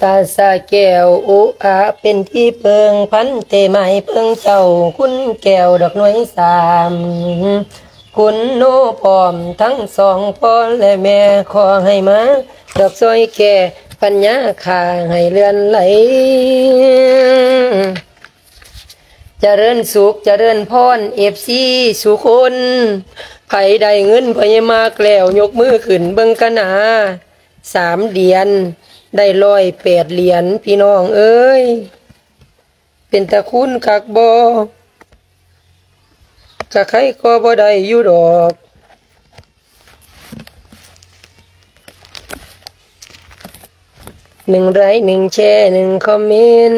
ຕາສະແກ້ວອຸອາເປັນທີ່ເພິ່ງ ພັນເຕໄມ້ເພິ່ງເຈົ້າ ຄຸນແກ້ວດອກໜ່ວຍສາມ ຄຸນໂນພ້ອມທັງສອງພໍ່ແລະແມ່ ຂໍໃຫ້ມາດອກຊ່ອຍແກ່ ປັນຍາຂ້າໃຫ້ເລື່ອນໄຫຼ ຈະເລີນສຸກຈະເລີນພອນ ເອັຟຊີ ສູ່ຄົນ ໃຜໄດ້ເງິນພະຍາມາກແລ້ວ ຍົກມືຂຶ້ນເບິ່ງກະໜາ ສາມດຽນໄດ້ຮ້ອຍແປດຫຼຽນ ພີ່ນ້ອງເອີຍ ເປັນຕາຄູນຄັກບໍ່? ກະໃຄກໍບໍ່ໄດ້ຢູ່ດອກ ໜຶ່ງໄລຄ໌ ໜຶ່ງແຊ ໜຶ່ງຄອມເມັນ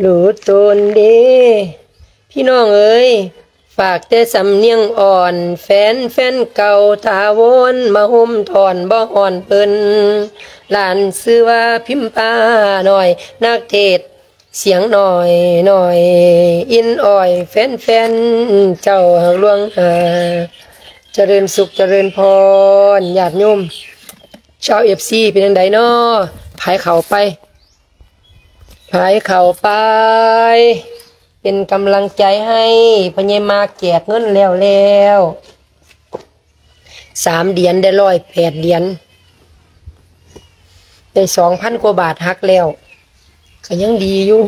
ຮູ້ຕົນເດ້ ພີ່ນ້ອງເອີຍ ຝາກແຕ່ສຳນຽງອ່ອນ ແຟນ ແຟນເກົ່າຖາວອນ ມາໂຮມທ້ອນບໍ່ຮ້ອນເພິ່ນ ຫຼານຊື່ວ່າພິມພານ້ອຍ ນັກເທດສຽງນ້ອຍ ນ້ອຍ ອິນອ້ອຍ ແຟນ ແຟນເຈົ້າຮັກຫຼວງ ຈະເລີນສຸກຈະເລີນພອນ ຍາດໂຍມ ຊາວເອັຟຊີ ເປັນຈັ່ງໃດນໍ? ພາຍເຂົ້າໄປ ພາຍເຂົ້າໄປ ເປັນກຳລັງໃຈໃຫ້ ພະຍາຍາມາກແຈກເງິນແລ້ວໆ ສາມດຽນໄດ້ຮ້ອຍແປດຫຼຽນ ໄດ້ສອງພັນກວ່າບາດຫັກແລ້ວ ກະຍັງດີຢູ່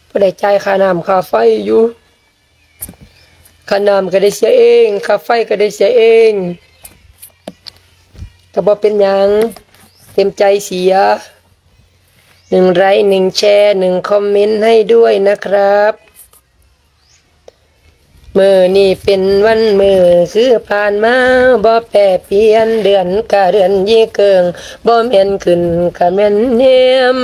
ພໍໄດ້ຈ່າຍຄ່ານ້ຳຄ່າໄຟຢູ່. ຄ່ານ້ຳກະໄດ້ເສຍເອງ ຄ່າໄຟກະໄດ້ເສຍເອງ ກະບໍ່ເປັນຫຍັງ ເຕັມໃຈເສຍ ໜຶ່ງໄລຄ໌ ໜຶ່ງແຊ ໜຶ່ງຄອມເມັນໃຫ້ດ້ວຍນະຄຣັບ ມື້ນີ້ເປັນວັນມື້ຄືຜ່ານມາ ບໍ່ແປປ່ຽນ ເດືອນກະເດືອນຍີ່ເກີງ ບໍ່ແມ່ນຂຶ້ນກະແມ່ນແຮມ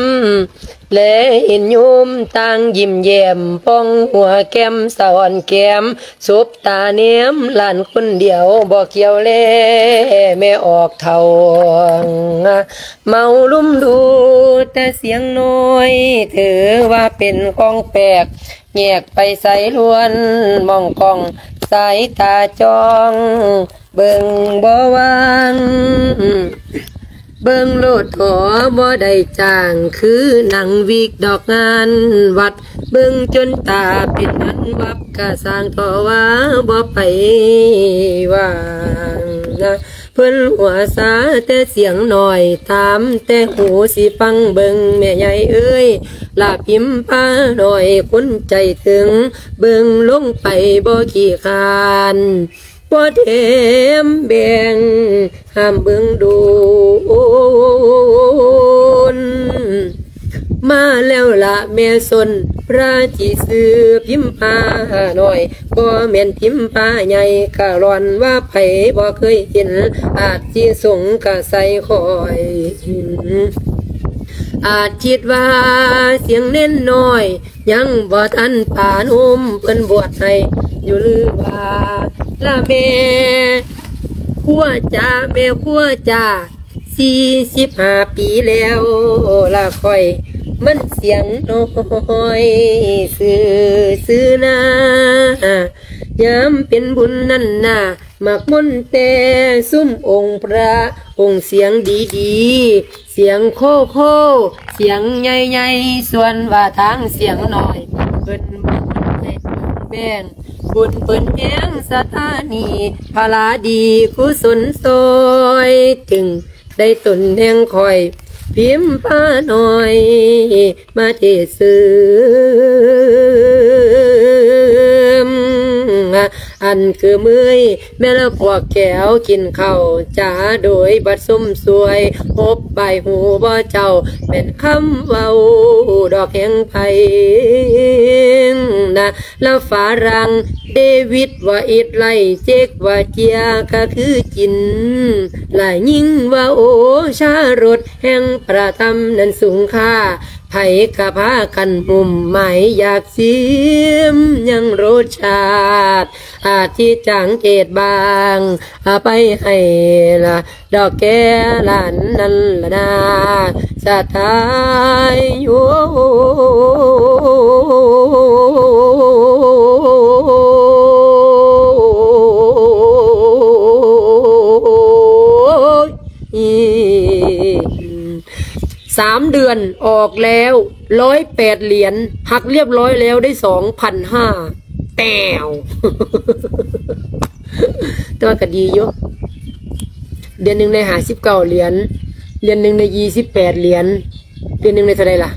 ແລເຫັນໂຍມຕ່າງຍິ້ມແຍ້ມ ປ່ອງຫົວແກ້ມສະອອນແກ້ມ ສົບຕາແນມຫຼານຄົນດຽວ ບໍ່ກ່ຽວແລແມ່ອອກເຖົ້າ ເມົາລຸມດູແຕ່ສຽງນ້ອຍ ຖືວ່າເປັນຂອງແປກ ແຍກໄປໃສລວນ ມອງກ້ອງສາຍຕາຈ້ອງ ເບິ່ງບໍ່ຫວ່າງ ເບິ່ງໂລດເຖາະບໍ່ໄດ້ຈ້າງ ຄືໜັງວິກດອກງານວັດ ເບິ່ງຈົນຕາເປັນອັນວັບ ກະຊ່າງເຖາະວ່າບໍ່ໄປຫວ່າງ ເພິ່ນຫົວຊາແຕ່ສຽງນ້ອຍ ຕາມແຕ່ຫູຊິຟັງ ເບິ່ງແມ່ໃຫຍ່ເອີຍ ລາພິມພານ້ອຍຄົນໃຈເຖິງ ເບິ່ງລົງໄປບໍ່ຂີ້ຄ້ານ ບໍ່ແຖມແບ່ງ ຫ້າມເບິ່ງໂດນ ມາແລ້ວລະແມ່ຊົນ ພະທີ່ຊື່ພິມພານ້ອຍ ບໍ່ແມ່ນພິມພາໃຫຍ່ ກະລ່ອນວ່າໃຜບໍ່ເຄີຍເຫັນ ອາດຊິສົງກະໃສ່ຂ້ອຍ ອາດຄິດວ່າສຽງເນນນ້ອຍ ຍັງບໍ່ທັນປານຸມ ເພິ່ນບວດໃຫ້ຢູ່ຫຼືວ່າ ລະແມ່ຄົວຈາ ແມ່ຄົວຈາ ສີ່ສິບຫ້າປີແລ້ວລະຂ້ອຍ ມັນສຽງນ້ອຍຊື່ໆນາ ຍາມເປັນບຸນນັ້ນນາ ມັກມົນແຕ່ຊຸມອົງພະ ອົງສຽງດີໆ ສຽງໂຄໂຄ ສຽງໃຫຍ່ໆ ສ່ວນວ່າທາງສຽງນ້ອຍ ເພິ່ນບໍ່ໃຫ້ແບ່ງ ບຸນເພິ່ນແຮງສະຖານີ ພະລາດີກຸສົນຊ່ອຍ ຈຶ່ງໄດ້ຕົນແຫ່ງຂ້ອຍ ພິມພານ້ອຍ ມາເທດເສີມ ອັນຄືເມື່ອຍແມ່ນລະພວກແກ້ວກິນເຂົ້າ ຈາໂດຍບັດຊົມຊ່ວຍ ຮົບບາຍຫູບໍ່ເຈົ້າ ແມ່ນຄຳເວົ້າດອກແຫ່ງໃຜນະ ລະຝຣັ່ງເດວິດວ່າອິດໄລ ເຈັກວ່າເຈຍກະຄືຈິນ ລະຍິງວ່າໂອຊາລົດ ແຫ່ງພະທຳນັ້ນສູງຄ່າ ໃຜກະພາກັນຫຸ້ມໝາຍຢາກຊິມ ຍັງລົດຊາດ ອາດຊິຈາງເກດບາງ ອາໄປໃຫ້ລະ ດອກແກ້ຫຼານນັ້ນລະນາ ສະຕາຍໂຍ. ອີ ສາມເດືອນອອກແລ້ວ ຮ້ອຍແປດຫຼຽນ ຫັກລຽບຮ້ອຍແລ້ວໄດ້ສອງພັນຫ້າ ແຕ້ວ ແຕ່ວ່າກໍດີຢູ່ ເດືອນໜຶ່ງໄດ້ຫ້າສິບເກົ້າຫຼຽນ ເດືອນໜຶ່ງໄດ້ຊາວແປດຫຼຽນ ເດືອນໜຶ່ງໄດ້ເທົ່າໃດລະ?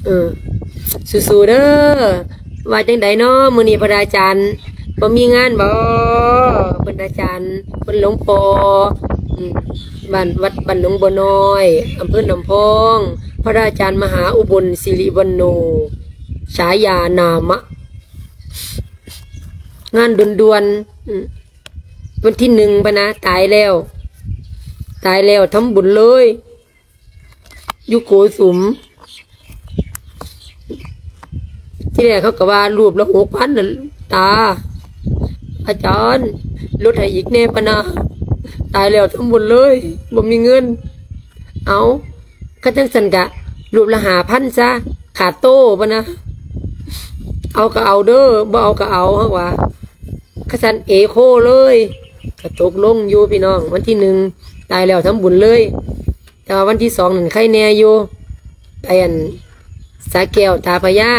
ເອີ ສູ້ໆເດີ. ວ່າຈັ່ງໃດເນາະ ມື້ນີ້ພະອາຈານບໍ່ມີງານບໍ? ເພິ່ນອາຈານ ເພິ່ນຫຼວງພໍ່ ອືມ ບ້ານ ວັດບ້ານໜອງບົວນ້ອຍ ອຳເພີນ້ຳພອງ ພະອາຈານມະຫາອຸບົນ ສິລິວັນໂນ ສາຍານາມະ ງານດ່ວນໆ ອືມ ວັນທີໜຶ່ງ ພະນະ ຕາຍແລ້ວ ຕາຍແລ້ວ ທຳບຸນເລີຍ ຢູ່ໂກສຸມ. ທີແລກເຂົາກໍວ່າຮູບລະຫົກພັນນະ ຕາ ອາຈານ ລົດໃຫ້ອີກແດ່ ພະນະ ຕາຍແລ້ວທຳບຸນເລີຍ ບໍ່ມີເງິນ. ເອົາ ຄັນຈັ່ງຊັ້ນກະຮູບລະຫ້າພັນຊະ ຂາດໂຕ ພະນະ ເອົາກໍເອົາເດີ ບໍ່ເອົາກໍເອົາ ເຮົາວ່າ ຄັນຊັ້ນເອໂຄເລີຍ ກໍຕົກລົງຢູ່ພີ່ນ້ອງ ວັນທີໜຶ່ງ ຕາຍແລ້ວທຳບຸນເລີຍ. ແຕ່ວ່າວັນທີສອງນັ້ນໄຄແດ່ຢູ່ ໄປອັນສະແກ້ວ ຕາພະຍາ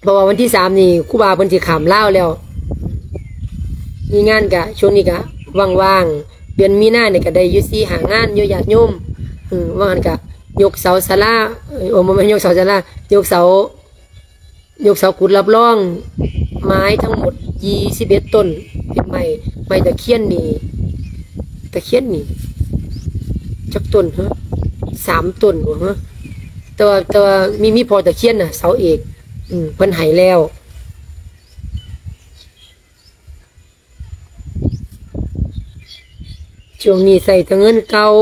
ເພາະວ່າວັນທີສາມນີ້ຄູບາເພິ່ນຊິຂ້າມລາວແລ້ວ ມີງານກະ ຊ່ວງນີ້ກະວ່າງໆ ເດືອນມີນານີ້ກະໄດ້ຢູ່ສີ່ຫ້າງານຢູ່ ຍາດໂຍມ ເອີ ວ່າງຫັ້ນກະຍົກເສົາສາລາ ເອີ ບໍ່ແມ່ນຍົກເສົາສາລາ ຍົກເສົາ ຍົກເສົາຂຸດຮັບຮອງ ໄມ້ທັງໝົດຊາວເອັດຕົ້ນ ເປັນໄມ້ ໄມ້ຕະຄຽນນີ້ ຕະຄຽນນີ້ຈັກຕົ້ນເຫືອ ສາມຕົ້ນບໍ່ເຫືອ ແຕ່ວ່າ ແຕ່ວ່າມີ ມີພໍ່ຕະຄຽນນະ ເສົາເອກ ອືມ ເພິ່ນໃຫ້ແລ້ວ. ຊ່ວງນີ້ໃຊ້ແຕ່ເງິນເກົ່າ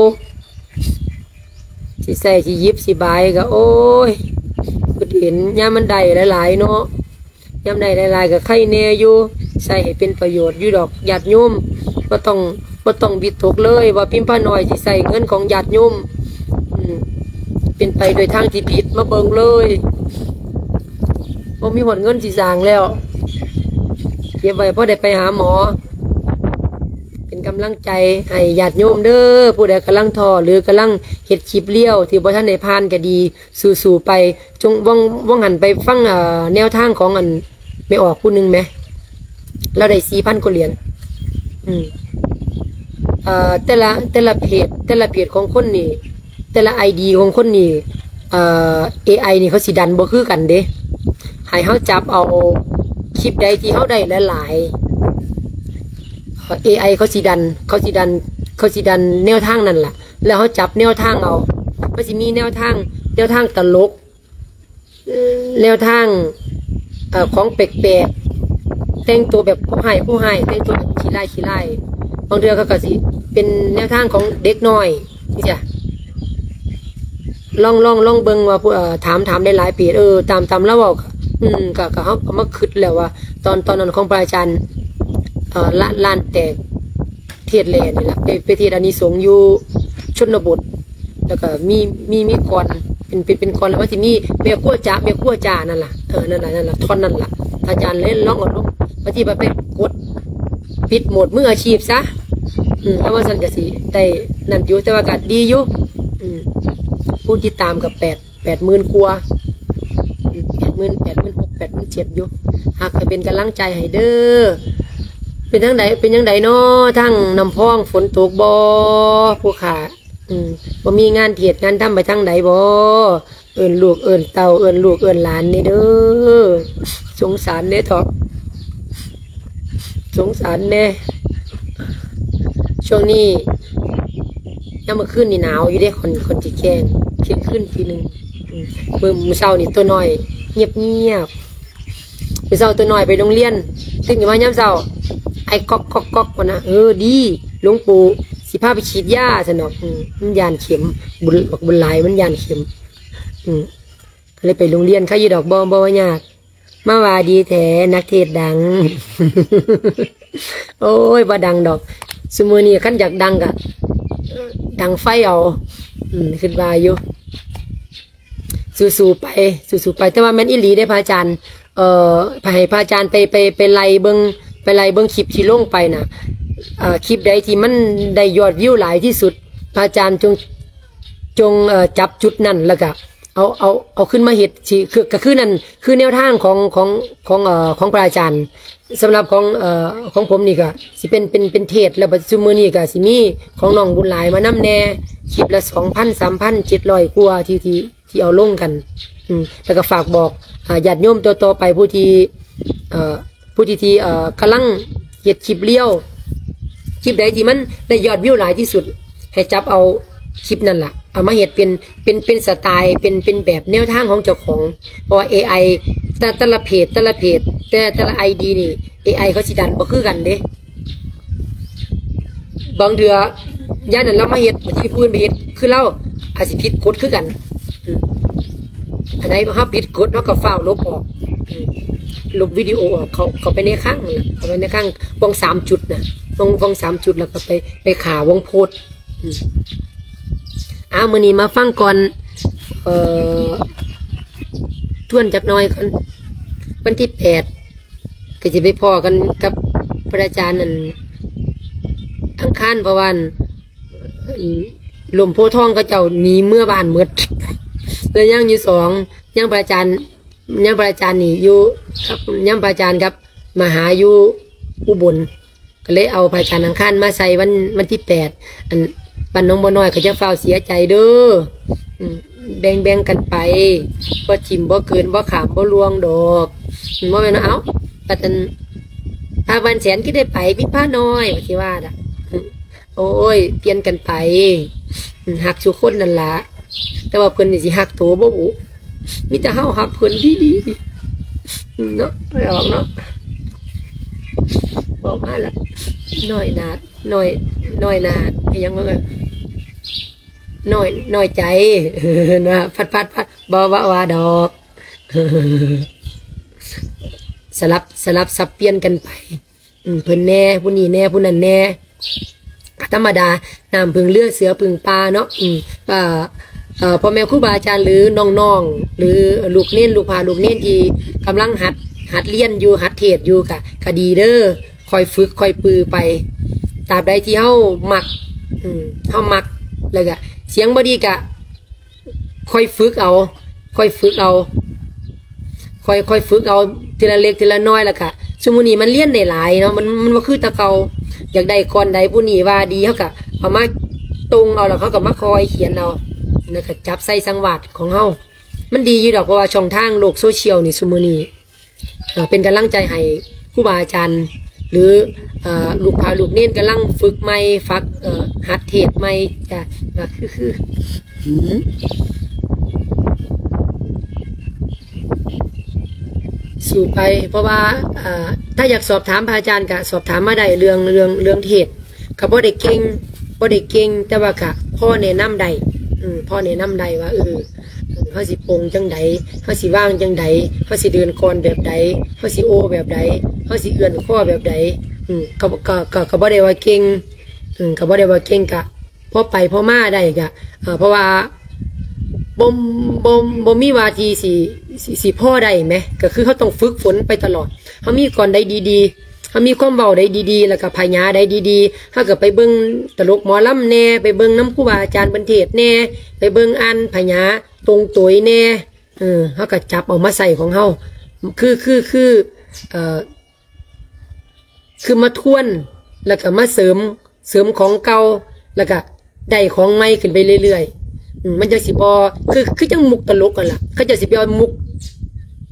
ຊິໃຊ້ ຊິຫຍິບ ຊິບາຍກໍ ໂອ້ຍ ຄິດເຫັນຍາມມັນໄດ້ຫຼາຍໆເນາະ ຍາມໄດ້ຫຼາຍໆກໍໄຄແດ່ຢູ່ ໃຊ້ໃຫ້ເປັນປະໂຫຍດຢູ່ດອກ ຍາດໂຍມ ບໍ່ຕ້ອງ ບໍ່ຕ້ອງວິຕົກເລີຍວ່າພິມພານ້ອຍຊິໃຊ້ເງິນຂອງຍາດໂຍມ ອືມ ເປັນໄປໂດຍທາງທີ່ຜິດ ມາເບິ່ງເລີຍ ບໍ່ມີຮອດເງິນຊິສ້າງແລ້ວ ເກັບໄວ້ພໍໄດ້ໄປຫາໝໍ ເປັນກຳລັງໃຈໃຫ້ຍາດໂຍມເດີ ຜູ້ໃດກຳລັງທໍ້ ຫຼື ກຳລັງເຮັດຄລິບລຽວທີ່ບໍ່ທັນໄດ້ຜ່ານກໍດີ ສູ້ໆໄປ. ຊ່ວງ ວ່າງ ວ່າງຫັ້ນໄປຟັງ ເອີ ແນວທາງຂອງອັນແມ່ອອກຜູ້ໜຶ່ງແໝ ລາວໄດ້ສີ່ພັນກວ່າຫຼຽນ ອືມ ເອີ ແຕ່ລະ ແຕ່ລະເພຈ ແຕ່ລະເພຈຂອງຄົນນີ້ ແຕ່ລະໄອດີຂອງຄົນນີ້ ເອີ ເອໄອນີ້ເຂົາຊິດັນບໍ່ຄືກັນເດ້ ໃຫ້ເຮົາຈັບເອົາຄລິບໃດທີ່ເຮົາໄດ້ຫຼາຍໆ ເອີ ເອໄອເຂົາຊິດັນ ເຂົາຊິດັນ ເຂົາຊິດັນແນວທາງນັ້ນລະ ແລ້ວເຮົາຈັບແນວທາງເອົາ ມັນຊິມີແນວທາງ ແນວທາງຕະຫຼົກ ແນວທາງ ເອີ ຂອງແປກໆ ແຕ່ງຕົວແບບຜູ້ຮ້າຍ ຜູ້ຮ້າຍ ແຕ່ງຕົວແບບຂີ້ຮ້າຍ ຂີ້ຮ້າຍ ບາງເທື່ອເຂົາກໍຊິເປັນແນວທາງຂອງເດັກນ້ອຍ ຈັ່ງຊີ້ ລອງ ລອງ ລອງເບິ່ງວ່າ ເອີ ຖາມ ຖາມຫຼາຍໆເພຈ ເອີ ຕາມ ຕາມລາວເວົ້າ ອືມ ກໍ ກໍເຮົາກໍມາຄິດແລ້ວວ່າ ຕອນ ຕອນນັ້ນຂອງພະອາຈານ ເອີ ລ້ານ ລ້ານແຕກ ເທດແຫຼະນີ້ລະ ໄປ ໄປເທດອານິສົງຢູ່ຊົນນະບົດ ແລ້ວກໍມີ ມີ ມີກ່ອນ ເປັນ ເປັນ ເປັນກ່ອນ ແລ້ວມັນຊິມີແມ່ຄົວຈາ ແມ່ຄົວຈານັ້ນລະ ເອີ ນັ້ນລະ ນັ້ນລະ ທ່ອນນັ້ນລະ ອາຈານເລີຍລອງເອົາລົງ ບາງທີໄປ ໄປກົດປິດໂໝດມືອາຊີບຊະ ອືມ ແລ້ວວ່າຊັ້ນກໍຊິໄດ້ນັ້ນຢູ່ ແຕ່ວ່າກໍດີຢູ່ ອືມ ຜູ້ຕິດຕາມກໍແປດ ແປດໝື່ນກວ່າ ອືມ ແປດໝື່ນ ແປດໝື່ນຫົກ ແປດໝື່ນເຈັດຢູ່ ຫາກໃຫ້ເປັນກຳລັງໃຈໃຫ້ເດີ. ເປັນຈັ່ງໃດ ເປັນຈັ່ງໃດນໍ ທາງນ້ຳພອງ ຝົນຕົກບໍ່ ຜູ້ຂ້າ? ອືມ ບໍ່ມີງານເທດງານທຳໄປທາງໃດບໍ່? ເອີ້ນລູກເອີ້ນເຕົ້າ ເອີ້ນລູກເອີ້ນຫຼານແດ່ເດີ ສົງສານແດ່ເທາະ ສົງສານແດ່. ຊ່ວງນີ້ ຍາມມື້ຄືນນີ້ໜາວຢູ່ເດ້ ຂ້ອຍ ຂ້ອຍຊິແຈ້ງ ທ່ຽງຄືນທີໜຶ່ງ. ອືມ ມື້ ມື້ເຊົ້ານີ້ຕົວນ້ອຍງຽບໆ ມື້ເຊົ້າຕົວນ້ອຍໄປໂຮງຮຽນ ຕື່ນຂຶ້ນມາຍາມເຊົ້າ ໄອກອກໆໆ ພຸ້ນນະ. ເອີ ດີ ຫຼວງປູ່ຊິພາໄປສີດຢາ ຊັ້ນດອກ. ອືມ ມັນຢ້ານເຂັມ ບຸນ ບັກບຸນຫຼາຍ ມັນຢ້ານເຂັມ. ອືມ ກໍເລີຍໄປໂຮງຮຽນ ໃຄຢູ່ດອກ ບໍ່ ບໍ່ວ່າຍາກ. ມາວ່າດີແທ້ ນັກເທດດັງ. ໂອ້ຍ ບໍ່ດັງດອກ ຊຸມື້ນີ້ຄັນຢາກດັງກະດັງໄຟເອົາ. ອືມ ຄິດວ່າຢູ່ ສູ້ໆໄປ ສູ້ໆໄປ. ແຕ່ວ່າແມ່ນອີ່ຫຼີເດ້ພະອາຈານ ເອີ ໃຫ້ພະອາຈານໄປ ໄປ ໄປໄລ່ເບິ່ງ ໄປໄລ່ເບິ່ງຄລິບທີ່ລົງໄປນະ ເອີ ຄລິບໃດທີ່ມັນໄດ້ຍອດວິວຫຼາຍທີ່ສຸດ ພະອາຈານຈົ່ງ ຈົ່ງ ເອີ ຈັບຈຸດນັ້ນ ແລ້ວກະເອົາ ເອົາ ເອົາຂຶ້ນມາເຮັດ ຊິ ຄື ກະຄືນັ້ນ ຄືແນວທາງຂອງ ຂອງ ຂອງ ເອີ ຂອງພະອາຈານ. ສຳລັບຂອງ ເອີ ຂອງຜົມນີ້ກະຊິເປັນ ເປັນ ເປັນເທດ ແລ້ວບັດຊຸມມື້ນີ້ກະຊິມີຂອງນ້ອງບຸນຫຼາຍມານຳແດ່ ຄລິບລະສອງພັນ ສາມພັນ ເຈັດຮ້ອຍກວ່າທີ່ ທີ່ ທີ່ເອົາລົງກັນ ອືມ ແລ້ວກໍຝາກບອກ ອາ ຍາດໂຍມຕໍ່ໆໄປ ຜູ້ທີ່ ເອີ ຜູ້ທີ່ ທີ່ ເອີ ກຳລັງເຮັດຄລິບລຽວ ຄລິບໃດທີ່ມັນໄດ້ຍອດວິວຫຼາຍທີ່ສຸດ ໃຫ້ຈັບເອົາຄລິບນັ້ນລະ ເອົາມາເຮັດເປັນ ເປັນ ເປັນສະໄຕ ເປັນ ເປັນແບບແນວທາງຂອງເຈົ້າຂອງ ເພາະວ່າເອໄອ ແຕ່ ແຕ່ລະເພຈ ແຕ່ລະເພຈ ແຕ່ ແຕ່ລະໄອດີນີ້ ເອໄອເຂົາຊິດັນບໍ່ຄືກັນເດ້. ບາງເທື່ອ ຢ້ານນັ້ນລາວມາເຮັດ ບາງທີຜູ້ອື່ນໄປເຮັດຄືລາວ ອາດຊິຜິດກົດຄືກັນ. ອືມ ອັນໃດເຮົາຜິດກົດ ເຮົາກໍຟ້າວລົບອອກ ອືມ ລົບວິດີໂອອອກ ເຂົ້າ ເຂົ້າໄປໃນຄັ້ງນັ້ນລະ ເຂົ້າໄປໃນຄັ້ງ ວງສາມຈຸດນະ ວງ ວງສາມຈຸດ ແລ້ວກໍໄປ ໄປຂ້າວງໂພສ. ອືມ ອ້າວ ມື້ນີ້ມາຟັງກ່ອນ ເອີ ທວນຈັກໜ້ອຍກ່ອນ ວັນທີແປດ ກໍຊິໄປພໍ້ກັນກັບພະອາຈານອັນອັງຄານ ເພາະວ່າອັນ ອັນ ລົມໂພທອງເຂົາເຈົ້າໜີເມືອບ້ານໝົດ ແລ້ວຍັງຢູ່ສອງ ຍັງພະອາຈານ ຍັງພະອາຈານນີ້ຢູ່ກັບ ຍັງພະອາຈານກັບມະຫາຢູ່ອຸບົນ ກໍເລີຍເອົາພະອາຈານອັງຄານມາໃສ່ວັນ ວັນທີແປດ ອັນ ບ້ານໜອງບົວນ້ອຍກໍຢ່າຟ້າວເສຍໃຈເດີ້ ອືມ ແບ່ງໆກັນໄປ ບໍ່ຖິ້ມບໍ່ເກີນ ບໍ່ຂ້າມບໍ່ລ່ວງດອກ ບໍ່ແມ່ນວ່າ ເອົ້າ ປາດນັ້ນ ພາບ້ານແສນຄືໄດ້ໄປ ມີພານ້ອຍ ວ່າຊິວ່າດະ ໂອ້ຍ ປ່ຽນກັນໄປ ອືມ ຮັກສູ່ຄົນນັ້ນລະ ແຕ່ວ່າເພິ່ນນີ້ຊິຮັກໂຕບໍ່ບຸ ມີແຕ່ເຮົາຮັກເພິ່ນດີໆ ເນາະ ໄປອອກເນາະ ບອກມາລະ ນ້ອຍໜ້າ ນ້ອຍ ນ້ອຍໜ້າ ອີຫຍັງວະ ນ້ອຍ ນ້ອຍໃຈ ນະ ພັດໆໆ ບໍ່ວ່າ ວ່າດອກ ສະຫຼັບ ສະຫຼັບສັບປ່ຽນກັນໄປ ອືມ ເພິ່ນແດ່ ຜູ້ນີ້ແດ່ ຜູ້ນັ້ນແດ່ ກໍທຳມະດາ ນ້ຳເພິ່ງເຮືອ ເສືອເພິ່ງປ່າເນາະ ອືມ ເອີ ເອີ ພໍ່ແມ່ຄູບາອາຈານ ຫຼື ນ້ອງໆ ຫຼື ລູກເນນ ລູກພະລູກເນນທີ່ກຳລັງຫັດ ຫັດລຽນຢູ່ ຫັດເທດຢູ່ ກະ ກະດີເດີ້ ຄ່ອຍຝຶກຄ່ອຍປືໄປ ຕາບໃດທີ່ເຮົາມັກ ອືມ ເຮົາມັກ ແລ້ວກະສຽງບໍ່ດີກະ ຄ່ອຍຝຶກເອົາ ຄ່ອຍຝຶກເອົາ ຄ່ອຍ ຄ່ອຍຝຶກເອົາທີລະເລັກທີລະນ້ອຍ ແລ້ວກະ ຊຸມມື້ນີ້ມັນລຽນໄດ້ຫຼາຍເນາະ ມັນ ມັນບໍ່ຄືແຕ່ເກົ່າ ຢາກໄດ້ກ່ອນໃດ ຜູ້ນີ້ວ່າດີ ເຮົາກະເອົາມາຕົງເອົາ ແລ້ວເຮົາກະມາຄ່ອຍຂຽນເອົາ ແລ້ວກະຈັບໃສ່ສັງວາດຂອງເຮົາ ມັນດີຢູ່ດອກ ເພາະວ່າຊ່ອງທາງໂລກໂຊຊຽວນີ້ ຊຸມມື້ນີ້ ເອີ ເປັນກຳລັງໃຈໃຫ້ຄູບາອາຈານ ຫຼື ເອີ ລູກພະລູກເນນກຳລັງຝຶກໃໝ່ ຝຶກ ເອີ ຫັດເທດໃໝ່ ຈ້ະ ກໍຄື ຄື ອືມ ສູ້ໄປ ເພາະວ່າ ເອີ ຖ້າຢາກສອບຖາມພະອາຈານກໍສອບຖາມມາໄດ້ ເລື່ອງ ເລື່ອງ ເລື່ອງເທດ ກໍບໍ່ໄດ້ເກັ່ງ ບໍ່ໄດ້ເກັ່ງ ແຕ່ວ່າກໍພໍແນະນຳໄດ້ ອືມ ພໍແນະນຳໄດ້ວ່າ ເອີ ເຮົາຊິປົງຈັ່ງໃດ ເຮົາຊິວາງຈັ່ງໃດ ເຮົາຊິເດີນກ່ອນແບບໃດ ເຮົາຊິໂອ້ແບບໃດ ເຮົາຊິເອື້ອນຄໍແບບໃດ ອືມ ກໍ ກໍ ກໍ ກໍບໍ່ໄດ້ວ່າເກັ່ງ ອືມ ກໍບໍ່ໄດ້ວ່າເກັ່ງ ກະພໍໄປພໍມາໄດ້ ກະ ເອີ ເພາະວ່າບໍ່ ບໍ່ ບໍ່ມີວ່າທີ່ຊິ ຊິ ຊິພໍໄດ້ແໝ ກໍຄືເຮົາຕ້ອງຝຶກຝົນໄປຕະຫຼອດ ເຮົາມີກ່ອນໃດດີໆ ເຮົາມີຄວາມເວົ້າໃດດີໆ ແລ້ວກໍພະຍາໃດດີໆ ເຮົາກໍໄປເບິ່ງຕະຫຼົກໝໍລຳແດ່ ໄປເບິ່ງນຳຄູບາອາຈານເພິ່ນເທດແດ່ ໄປເບິ່ງອ່ານພະຍາຕົງໂຕຍແດ່ ເອີ ເຮົາກໍຈັບເອົາມາໃສ່ຂອງເຮົາ ຄື ຄື ຄື ເອີ ຄືມາທວນ ແລ້ວກໍມາເສີມ ເສີມຂອງເກົ່າ ແລ້ວກໍໄດ້ຂອງໃໝ່ຂຶ້ນໄປເລື້ອຍໆ ອືມ ມັນຈັ່ງຊິບໍ່ ຄື ຄືຈັ່ງມຸກຕະຫຼົກຫັ້ນລະ ເຂົາເຈົ້າຊິໄປເອົາມຸກ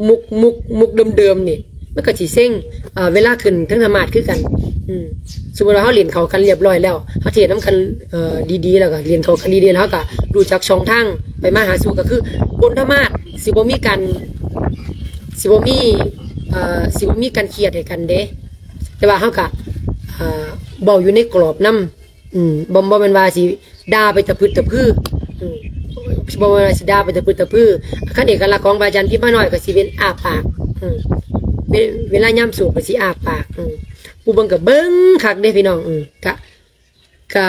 ມຸກ ມຸກ ມຸກເດີມໆນີ້ ມັນກໍຊິເຊັງ ເອີ ເວລາຂຶ້ນເທິງທຳມາດຄືກັນ ອືມ ສົມມຸດວ່າເຮົາຫຼິ້ນເຂົ້າກັນລຽບຮ້ອຍແລ້ວ ເຮົາເທດນຳກັນ ເອີ ດີໆ ແລ້ວກໍຫຼິ້ນເຂົ້າກັນດີໆ ແລ້ວເຮົາກໍຮູ້ຈັກຊ່ອງທາງໄປມາຫາສູ່ ກໍຄືບົນທຳມາດ ຊິບໍ່ມີການ ຊິບໍ່ມີ ເອີ ຊິບໍ່ມີການຄຽດໃຫ້ກັນເດ້ ແຕ່ວ່າເຮົາກະ ເອີ ເວົ້າຢູ່ໃນກຣອບນຳ ອືມ ບໍ່ ບໍ່ແມ່ນວ່າຊິດ່າໄປຕະພຶດຕະພື ອືມ ບໍ່ແມ່ນວ່າຊິດ່າໄປຕະພຶດຕະພື ຄັນເອກະລັກຂອງພະອາຈານພິມພານ້ອຍກໍຊິເປັນອ້າປາກ ອືມ ເວ ເວລາຍາມສວດກໍຊິອ້າປາກ ອືມ ຜູ້ເບິ່ງກໍເບິ່ງຄັກເດ້ພີ່ນ້ອງ ອືມ ກະ ກະ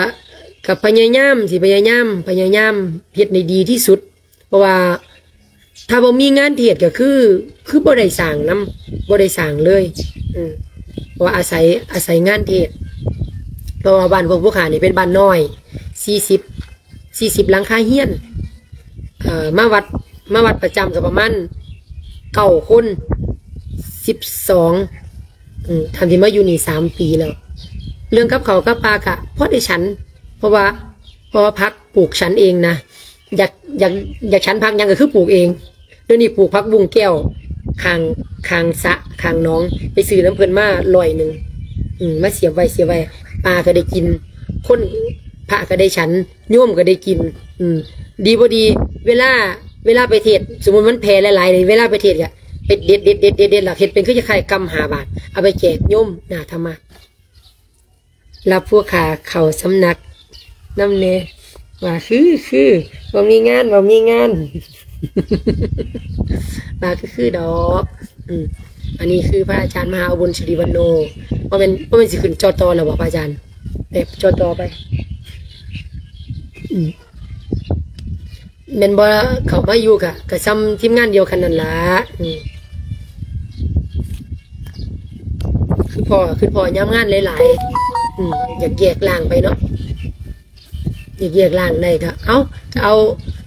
ກະພະຍາຍາມ ຊິພະຍາຍາມ ພະຍາຍາມເຮັດໃຫ້ດີທີ່ສຸດ ເພາະວ່າຖ້າບໍ່ມີງານເທດກໍຄື ຄືບໍ່ໄດ້ສ້າງນຳ ບໍ່ໄດ້ສ້າງເລີຍ ອືມ ເພາະວ່າອາໄສ ອາໄສງານເທດ ເພາະວ່າບ້ານພວກຜູ້ຂ້ານີ້ເປັນບ້ານນ້ອຍ ສີ່ສິບ ສີ່ສິບຫຼັງຄາເຮືອນ ເອີ ມາວັດ ມາວັດປະຈຳກໍປະມານເກົ້າຄົນ ສິບສອງ ອືມ ທ່ານທີ່ມາຢູ່ນີ້ສາມປີແລ້ວ ເລື່ອງກັບເຂົ້າກັບປາກະພໍໄດ້ສັນ ເພາະວ່າ ເພາະວ່າຜັກປູກສັນເອງນະ ຢາກ ຢາກ ຢາກສັນຜັກຫຍັງກໍຄືປູກເອງ. ດຽວນີ້ປູກຜັກບຸ້ງແກ້ວ ຂ້າງ ຂ້າງສະ ຂ້າງໜອງ ໄປຊື້ນຳເພິ່ນມາຮ້ອຍໜຶ່ງ ອືມ ມາສຽບໄວ້ ສຽບໄວ້ ປາກໍໄດ້ກິນ ຄົນ ພະກໍໄດ້ສັນ ໂຍມກໍໄດ້ກິນ ອືມ ດີບໍ່ດີ ເວລາ ເວລາໄປເທດ ສົມມຸດມັນແຜ່ຫຼາຍໆ ເວລາໄປເທດກໍໄປເດັດ ເດັດ ເດັດ ເດັດ ເດັດ ແລ້ວເຮັດເປັນຄືຄ້າຍໆ ກຳຫ້າບາດ ເອົາໄປແຈກໂຍມໜ້າທຳມະ. ຮັບຜູ້ຂ້າເຂົ້າສຳນັກນຳແດ່ ວ່າຄື ຄື ບໍ່ມີງານ ບໍ່ມີງານ ວ່າຄື ຄືດອກ ອືມ ອັນນີ້ຄືພະອາຈານມະຫາອຸບົນ ສິລິວັນໂນ ບໍ່ແມ່ນ ບໍ່ແມ່ນຊິຂຶ້ນ ຈ.ຕ. ແລ້ວບໍ່ ພະອາຈານ ແບບ ຈ.ຕ. ໄປ ອືມ ແມ່ນບໍ່ ເຂົ້າມາຢູ່ກະ ກະສ່ຳທີມງານດຽວກັນນັ້ນລະ ອືມ ຄືພໍ່ ຄືພໍ່ຍາມງານຫຼາຍໆ ອືມ ຢາກແຍກລ່າງໄປເນາະ ຢາກແຍກລ່າງໄດ້ກະເອົາ ເອົາ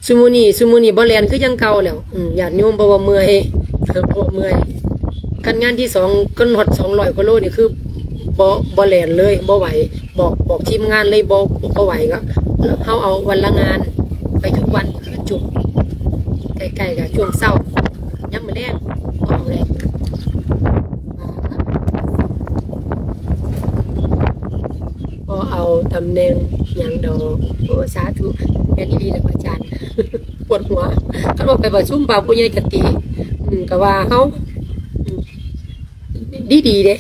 ຊຸມື້ນີ້ ຊຸມື້ນີ້ບໍ່ແລ່ນຄືຈັ່ງເກົ່າແລ້ວ ອືມ ຍາດໂຍມ ເພາະວ່າເມື່ອຍ ເພາະວ່າເມື່ອຍ ຄັນງານທີສອງ ຄັນຮອດສອງຮ້ອຍກວ່າໂລນີ້ຄື ບໍ່ ບໍ່ແລ່ນເລີຍ ບໍ່ໄຫວ ບອກ ບອກທີມງານເລີຍ ບໍ່ ບໍ່ໄຫວກໍ ເຮົາເອົາວັນລະງານ ໄປທຸກວັນ ຄືຈຸ ໃກ້ໆ ກໍຊ່ວງເຊົ້າ ຍາມມື້ແລງ ບໍ່ເອົາແລ້ວ ບໍ່ເອົາຕຳແໜ່ງຫຍັງດອກ. ໂອ້ ສາທຸ ແມ່ນອີ່ຫຼີແຫຼະພະອາຈານ ປວດຫົວ ຄັນວ່າໄປປະຊຸມພະຜູ້ໃຫຍ່ກະຕິ ອືມ ກະວ່າເຮົາ ອືມ ດີໆເດ້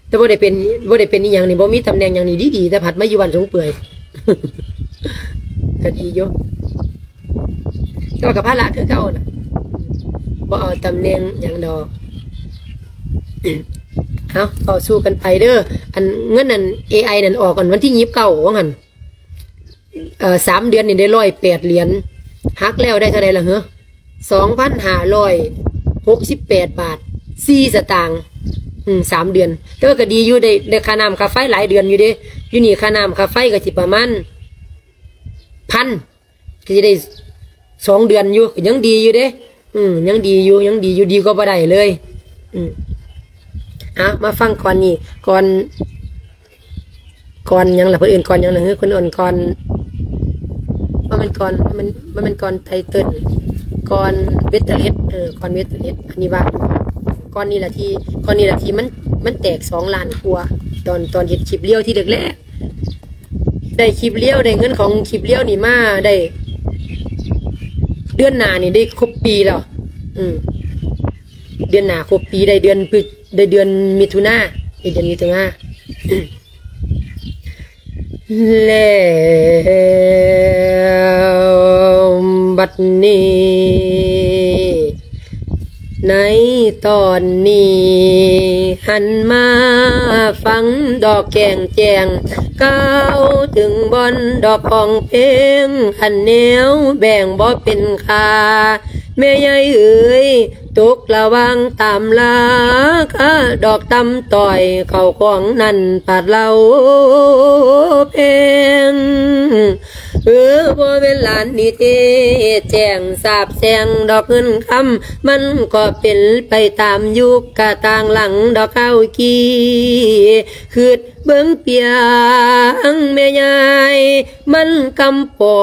ແຕ່ບໍ່ໄດ້ເປັນ ບໍ່ໄດ້ເປັນອີ່ຫຍັງນີ້ ບໍ່ມີຕຳແໜ່ງຫຍັງນີ້ ດີໆ ແຕ່ພັດມາຢູ່ບ້ານສົງເປື່ອຍ ກະດີຢູ່ ແຕ່ວ່າກະພາລະຄືເກົ່ານະ ບໍ່ເອົາຕຳແໜ່ງຫຍັງດອກ. ເອົາ ຕໍ່ສູ້ກັນໄປເດີ ອັນເງິນນັ້ນ ເອໄອ ນັ້ນອອກ ອັນວັນທີຊາວເກົ້າວ່າຊັ້ນ ເອີ ສາມເດືອນນີ້ໄດ້ຮ້ອຍແປດຫຼຽນ ຫັກແລ້ວໄດ້ເທົ່າໃດລະເຫືອ ສອງພັນຫ້າຮ້ອຍຫົກສິບແປດບາດສີ່ສະຕາງ ອືມ ສາມເດືອນ ແຕ່ວ່າກໍດີຢູ່ ໄດ້ ໄດ້ຄ່ານ້ຳຄ່າໄຟຫຼາຍເດືອນຢູ່ເດ້ ຢູ່ນີ້ຄ່ານ້ຳຄ່າໄຟກໍຊິປະມານພັນ ກໍຊິໄດ້ສອງເດືອນຢູ່ ກໍຍັງດີຢູ່ເດ້ ອືມ ຍັງດີຢູ່ ຍັງດີຢູ່ ດີກວ່າບໍ່ໄດ້ເລີຍ ອືມ ເອົາ ມາຟັງກ່ອນນີ້ ກ່ອນ ກ່ອນຫຍັງລະ ເພິ່ນເອີ້ນກ່ອນຫຍັງລະ ເພິ່ນເອີ້ນກ່ອນ ບໍ່ແມ່ນກ່ອນ ມັນ ມັນແມ່ນກ່ອນໄຕເຕີນ ກ່ອນເວັດເຕີເລັດ ເອີ ກ່ອນເວັດເຕີເລັດ ອັນນີ້ວ່າ ກ່ອນນີ້ລະທີ່ ກ່ອນນີ້ລະທີ່ມັນ ມັນແຕກສອງລ້ານກວ່າ ຕອນ ຕອນເຮັດຄລິບລຽວທີແລກໆ ໄດ້ຄລິບລຽວ ໄດ້ເງິນຂອງຄລິບລຽວນີ້ມາໄດ້ ເດືອນໜ້ານີ້ໄດ້ຄົບປີແລ້ວ ອືມ ເດືອນໜ້າຄົບປີ ໄດ້ເດືອນພຶດ ໄດ້ເດືອນມິຖຸນາ ໄດ້ເດືອນມິຖຸນາ ແລ້ວບັດນີ້ ໃນຕອນນີ້ ຫັນມາຟັງດອກແກງແຈ້ງ ກ່າວເຖິງບ່ອນດອກຂອງເພງ ອັນແນວແບ່ງບໍ່ເປັນຄ່າ ແມ່ໃຫຍ່ເອີຍ ຕົກລະຫວ່າງຕາມລາຄາ ດອກຕ່ຳຕ້ອຍເຂົ້າຂອງນັ້ນປາດເລົ່າແພງ ເອີ ບໍ່ແມ່ນຫຼານນິເທດແຈ້ງສາບແຊ່ງດອກເງິນຄຳ ມັນກໍເປັນໄປຕາມຍຸກກະຕ່າງຫຼັງດອກຄາວກີ້ ຄິດ ເບິ່ງປຽງແມ່ຍາຍ ມັນກຳປໍ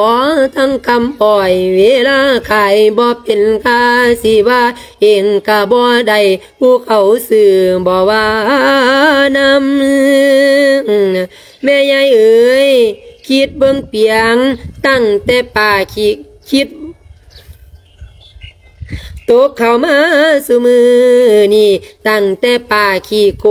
ທັງກຳອ້ອຍ ເວລາຂາຍບໍ່ເປັນຄ່າ ຊິວ່າເອງກະບໍ່ໄດ້ ຜູ້ເຂົາຊື້ບໍ່ວ່ານຳ. ແມ່ຍາຍເອີຍ ຄິດເບິ່ງປຽງ ຕັ້ງແຕ່ປ້າຂີ້ ຄິດ ຕົກເຂົ້າມາສູ່ມື້ນີ້ ຕັ້ງແຕ່ປ້າຂີ້ໂກ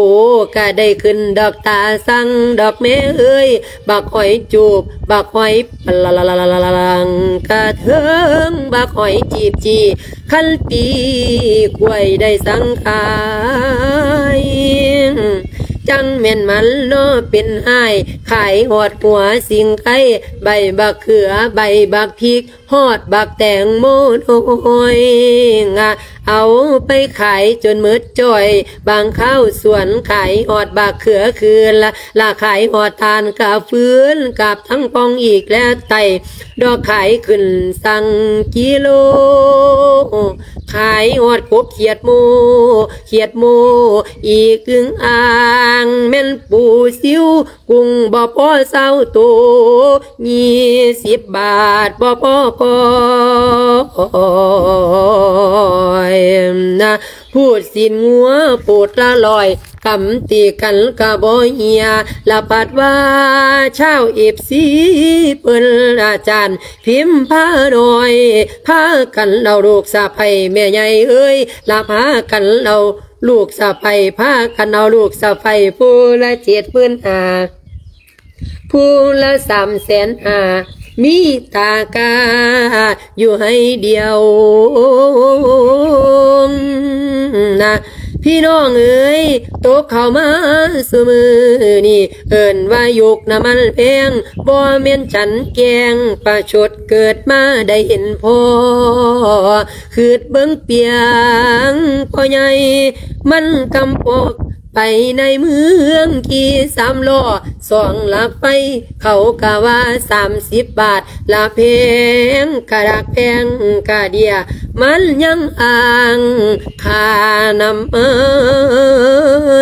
ກະໄດ້ຂຶ້ນດອກຕາສັງດອກແມ່ເອີຍ ບັກຫອຍຈູບ ບັກຫອຍປະລັງກະເທິງ ບັກຫອຍຈີບຈີ່ ຄັນຕີກວຍໄດ້ສັງຂາຍ. ຈັງແມ່ນມັນເນາະເປັນອ້າຍ ຂາຍຮອດຫົວສິງໄຄ ໃບບັກເຂືອ ໃບບັກພິກ ຮອດບັກແຕງໂມນ້ອຍ ເອົາໄປຂາຍຈົນໝົດຈ້ອຍ ບາງຄາວສວນຂາຍຮອດບັກເຂືອຄືລະ ລະຂາຍຮອດຖ່ານກະຟືນ ກັບທັງປ່ອງອີກແລະໄຕ້ ດອກຂາຍຂຶ້ນສັງກິໂລ ຂາຍຮອດກົບຂຽດໂມ ຂຽດໂມ ອີກອຶ່ງອ່າງ ແມ່ນປູຊິວ ກຸ້ງບໍ່ພໍຊາວໂຕ ຍີ່ສິບບາດບໍ່ພໍກ້ອຍນະ ພູດຊີ້ນງົວໂພດລະຮ້ອຍ ກຳຕີກັນກະບໍ່ເຫ່ຍ ລະພັດວ່າຊາວເອັຟຊີເພິ່ນອາຈານ ພິມພານ້ອຍ ພາກັນເອົາລູກສະໃພ້ແມ່ໃຫຍ່ເອີຍ ລະພາກັນເອົາລູກສະໃພ້ ພາກັນເອົາລູກສະໃພ້ ຜູ້ລະເຈັດໝື່ນຫ້າ ຜູ້ລະສາມແສນຫ້າ ມີຕາກາຢູ່ໃຫ້ດຽວນະ ພີ່ນ້ອງເອີຍ ຕົກເຂົ້າມາຊຸມື້ນີ້ ເອີ້ນວ່າຍຸກນ້ຳມັນແພງ ບໍ່ແມ່ນສັນແກງ ປະຊົດເກີດມາໄດ້ເຫັນພໍ ຄຶດເບິ່ງປຽງພໍ່ໃຫຍ່ ມັນກຳປອກໄປໃນເມືອງຂີ່ສາມລໍ້ ສອງຫຼັກໄຟ ເຂົາກະວ່າສາມສິບບາດ ລະແພງກະດັກແພງກະເດຍ ມັນຍັງອ້າງຄ່ານ້ຳມັ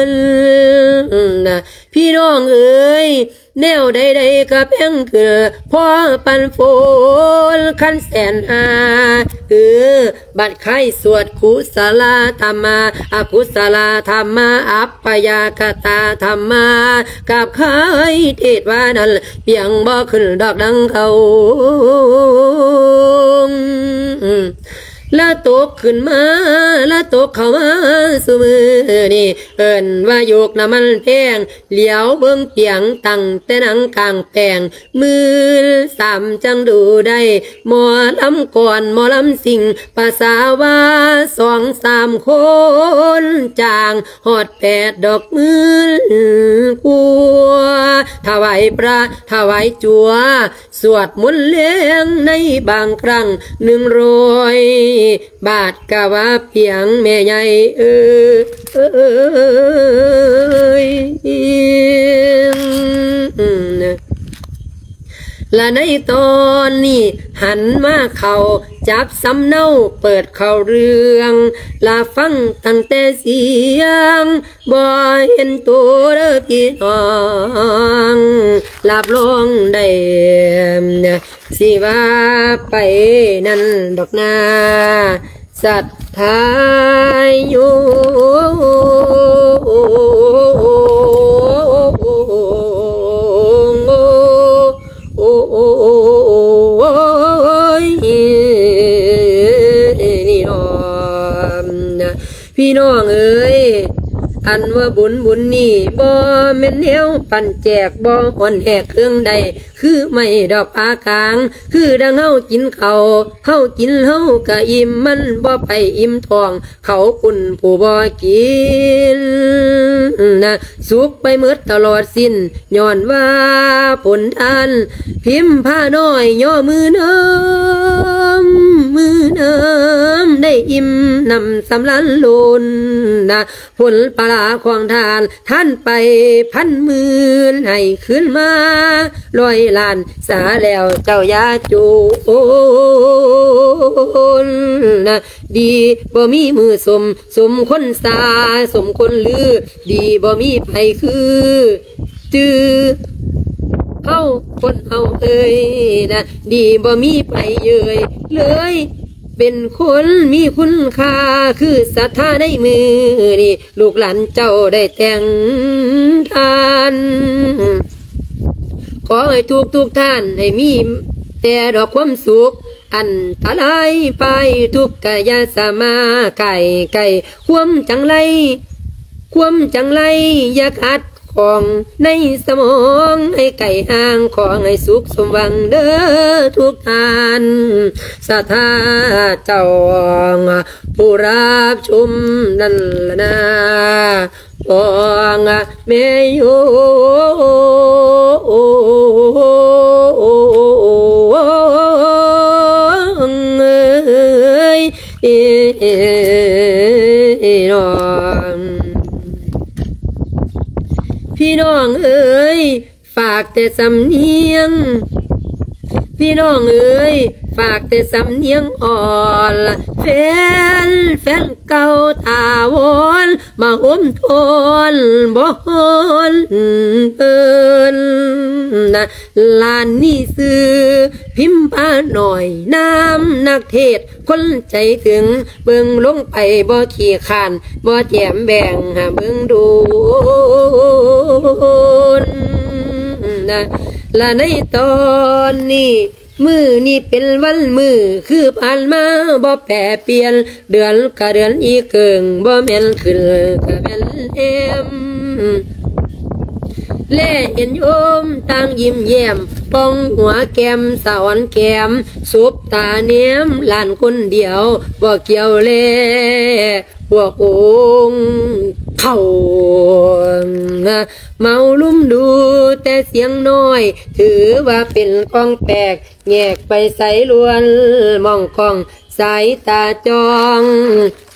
ນນະ ພີ່ນ້ອງເອີຍ ແນວໃດໆກະແພງຂຶ້ນ ພໍປັນຝົນຄັນແສນຫ້າ ເອີ ບັດໄຄສວດກຸສະລາທຳມາ ອະກຸສະລາທຳມາ ອັບປະຍາກະຕາທຳມາ ກັບໄຄເທດວ່ານັ້ນ ປຽງບໍ່ຂຶ້ນດອກດັງເກົ່າ ລະຕົກຂຶ້ນມາ ລະຕົກເຂົ້າມາສູ່ມື້ນີ້ ເອີ້ນວ່າຍຸກນ້ຳມັນແພງ ຫຼຽວເບິ່ງປຽງຕັ້ງແຕ່ນາງກາງແປງ ໝື່ນສາມຈັ່ງດູໄດ້ ໝໍລຳກອນໝໍລຳສິງ ປະສາວ່າສອງສາມຄົນຈ້າງ ຮອດແປດດອກໝື່ນກວ່າ ຖວາຍພະ ຖວາຍຈົວ ສວດມົນແລງໃນບາງຄັ້ງ ໜຶ່ງຮ້ອຍບາດກະວ່າປຽງແມ່ໃຫຍ່ເອີຍ. ລະໃນຕອນນີ້ຫັນມາເຂົ້າຈັບສຳເນົາເປີດເຂົ້າເລື່ອງ ລະຟັງຕັ້ງແຕ່ສຽງ ບໍ່ເຫັນໂຕເດີພີ່ນ້ອງ ຮັບຮອງໄດ້ ຊິວ່າໄປນັ້ນດອກນາ ສັດທາໂຍ ໂອ້ ຍ ນີ້ເນາະ ພີ່ນ້ອງເອີຍ ອັນວ່າບຸນບຸນນີ້ ບໍ່ແມ່ນແນວປັ້ນແຈກ ບໍ່ຮ້ອນແຮກເຄື່ອງໃດ ຄືໄມ້ດອກປາກາງ ຄືດັ່ງເຮົາກິນເຂົ້າ ເຮົາກິນເຮົາກະອີ່ມ ມັນບໍ່ໄປອີ່ມທ້ອງ ເຂົາປຸ້ນຜູ້ບໍ່ກິນນະ ສຸກໄປໝົດຕະຫຼອດສິ້ນ ຍ້ອນວ່າຜົນທານ ພິມພານ້ອຍຍໍມືນຳ ມືນຳ ໄດ້ອີ່ມໜຳສຳລານລົ້ນນະ ຜົນປະຫຼາຂອງທ່ານ ທ່ານໄປພັນໝື່ນ ໃຫ້ຄືນມາຮ້ອຍລ້ານ ສາແລ້ວເຈົ້າຢ່າໂຈນນະ ດີບໍ່ມີມື້ສົມ ສົມຄົນສາ ສົມຄົນລື ດີບໍ່ມີໃຜຄື ຈື່ເຮົາຄົນເຮົາເອີຍນະ ດີບໍ່ມີໃຜເອີຍເລີຍ ເປັນຄົນມີຄຸນຄ່າ ຄືສັດທາໃນມື້ນີ້ ລູກຫຼານເຈົ້າໄດ້ແຕ່ງທ່ານ ຂໍໃຫ້ທຸກໆທ່ານໃຫ້ມີແຕ່ດອກຄວາມສຸກ ອັນຕະລາຍໄປ ທຸກກະຢ່າສາມາໃກ້ ໃກ້ຄວາມຈັງໄລ ຄວາມຈັງໄລຢ່າຂັດ ຂອງໃນສະໝອງໃຫ້ໄກຫ່າງ ຂໍໃຫ້ສຸກສົມຫວັງເດີທຸກທ່ານ ສາທາເຈົ້າ ຜູ້ຮັບຊົມນັ້ນລະນາ ຂອງແມ່ໂຍງເອີຍ ນ້ອງ ພີ່ນ້ອງເອີຍ ຝາກແຕ່ສຳນຽງ ພີ່ນ້ອງເອີຍ ຝາກແຕ່ສຳນຽງອ່ອນ ແຟນ ແຟນເກົ່າຖາວອນ ມາໂຮມທອນ ບໍ່ຮ້ອນເພິ່ນນະ ຫຼານນີ້ຊື່ພິມພານ້ອຍ ນາມນັກເທດ ຄົນໃຈເຖິງ ເບິ່ງລົງໄປບໍ່ຂີ້ຄ້ານ ບໍ່ແຈມແບ່ງຫາເບິ່ງໂດນນະ ລະໃນຕອນນີ້ ມື້ນີ້ເປັນວັນມື້ ຄືຜ່ານມາບໍ່ແປປ່ຽນ ເດືອນກະເດືອນອີເກີງ ບໍ່ແມ່ນຂຶ້ນກະແມ່ນແຮມ ແລເຫັນໂຍມຕ່າງຍິ້ມແຍ້ມ ປ່ອງຫົວແກ້ມສະອອນແກ້ມ ສົບຕາແນມຫຼານຄົນດຽວ ບໍ່ກ່ຽວແລພວກອົງເຖົ້າ ເມົາລຸມດູແຕ່ສຽງນ້ອຍ ຖືວ່າເປັນຂອງແປກ ແຍກໄປໃສລວນມອງກອງ ສາຍຕາຈ້ອງ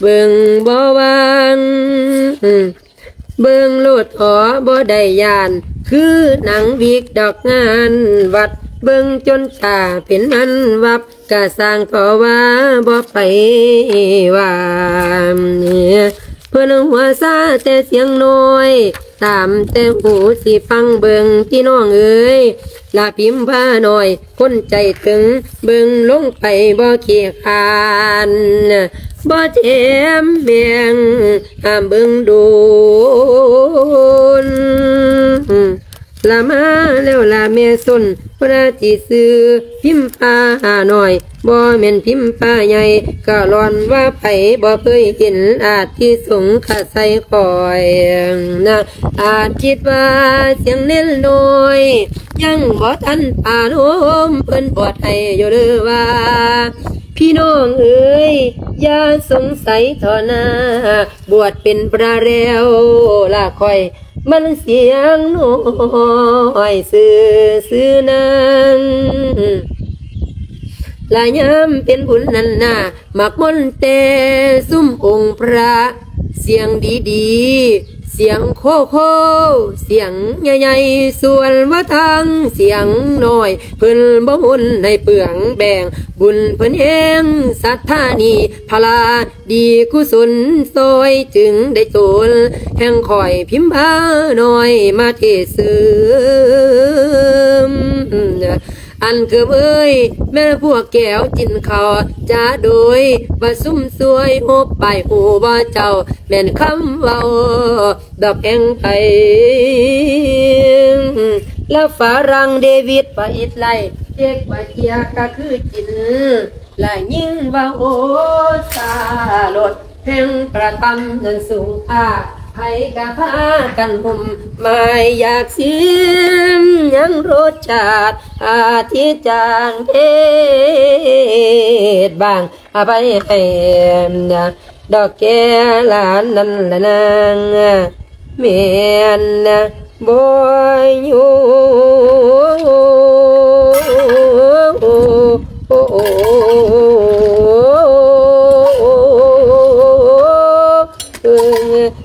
ເບິ່ງບໍ່ວາງ ເບິ່ງໂລດເຖາະບໍ່ໄດ້ຢ້ານ ຄືໜັງວິກດອກງານວັດ ເບິ່ງຈົນຕາເປັນອັນວັບ ກະຊ່າງເຖາະວ່າບໍ່ໄປວ່າ ເພິ່ນຫົວຊາແຕ່ສຽງນ້ອຍ ຕາມແຕ່ຫູຊິຟັງເບິ່ງ ພີ່ນ້ອງເອີຍ ລະພິມພານ້ອຍ ຄົນໃຈເຖິງ ເບິ່ງລົງໄປບໍ່ຂີ້ຄ້ານ ບໍ່ແຈມແບ່ງຫ້າມເບິ່ງໂດນ ລະມາແລ້ວລະແມ່ຊົນ ເພິ່ນອາດຊິຊື່ພິມພານ້ອຍ ບໍ່ແມ່ນພິມພາໃຫຍ່ ກະລ້ອນວ່າໃຜບໍ່ເຄີຍເຫັນ ອາດຊິສົງໄສຂ້ອຍນະ ອາດຄິດວ່າສຽງເນນນ້ອຍ ຍັງບໍ່ທັນປານໂຮມ ເພິ່ນບວດໃຫ້ຢູ່ເດີວ່າ ພີ່ນ້ອງເອີຍ ຢ່າສົງໄສເຖາະນາ ບວດເປັນພະແລ້ວລະຂ້ອຍ ມັນສຽງນ້ອຍຊື່ໆນັ້ນ ລະຍາມເປັນບຸນນັ້ນນາ ມັກມົນແຕ່ຊຸມອົງພະ ສຽງດີໆ ສຽງໂຄໂຄ ສຽງໃຫຍ່ໆ ສ່ວນວ່າທາງສຽງນ້ອຍ ເພິ່ນບໍ່ມົນໃຫ້ເປືອງແບ່ງ ບຸນເພິ່ນແຮງ ສັດທານີ້ພະລາ ດີກຸສົນຊ່ອຍຈຶ່ງໄດ້ໂຕນ ແຫ່ງຂ້ອຍພິມພານ້ອຍມາເທເສີມ ອັນເກີບເອີຍ ແມ່ນພວກແກ້ວກິນເຂົ້າ ຈາໂດຍວ່າຊຸມຊ່ວຍ ໂຮບບາຍຮູ້ບໍ່ເຈົ້າ ແມ່ນຄຳເວົ້າດອກແຫ່ງໃຜ ລະຝຣັ່ງເດວິດປະອິດໄລ ເດັກວ່າເຈຍກະຄືຈິນ ລະຍິງວ່າໂອຊາລົດ ແຫ່ງປະທຳນັ້ນສູງຄ່າ ໃຜກະພາກັນຫຸ້ມໝາຍຢາກຊິມ ຍັງລົດຊາດອາທິຈານເທດບາງ ອະໄພໃຫ້ດອກແກ່ຫຼານນັ້ນລະນາງ ແມ່ນບໍ່ຢູ່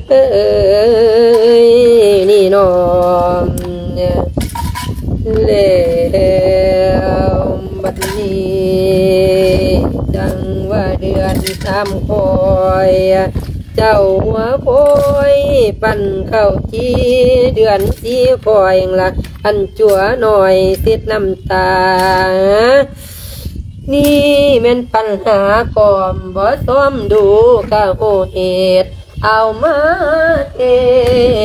ເອີຍ ນີ້ນ້ອງ ແລ້ວບັດນີ້ ຈັ່ງວ່າເດືອນສາມຂ້ອຍ ເຈົ້າຫົວໂພຍ ປັ້ນເຂົ້າຈີ່ ເດືອນສີ່ຂ້ອຍລະ ອັນຈົວນ້ອຍເຊັດນ້ຳຕາ ນີ້ແມ່ນປັນຫາກອມ ບໍ່ຊອມດູກະຮູ້ເຫດ ເອົາມາເທ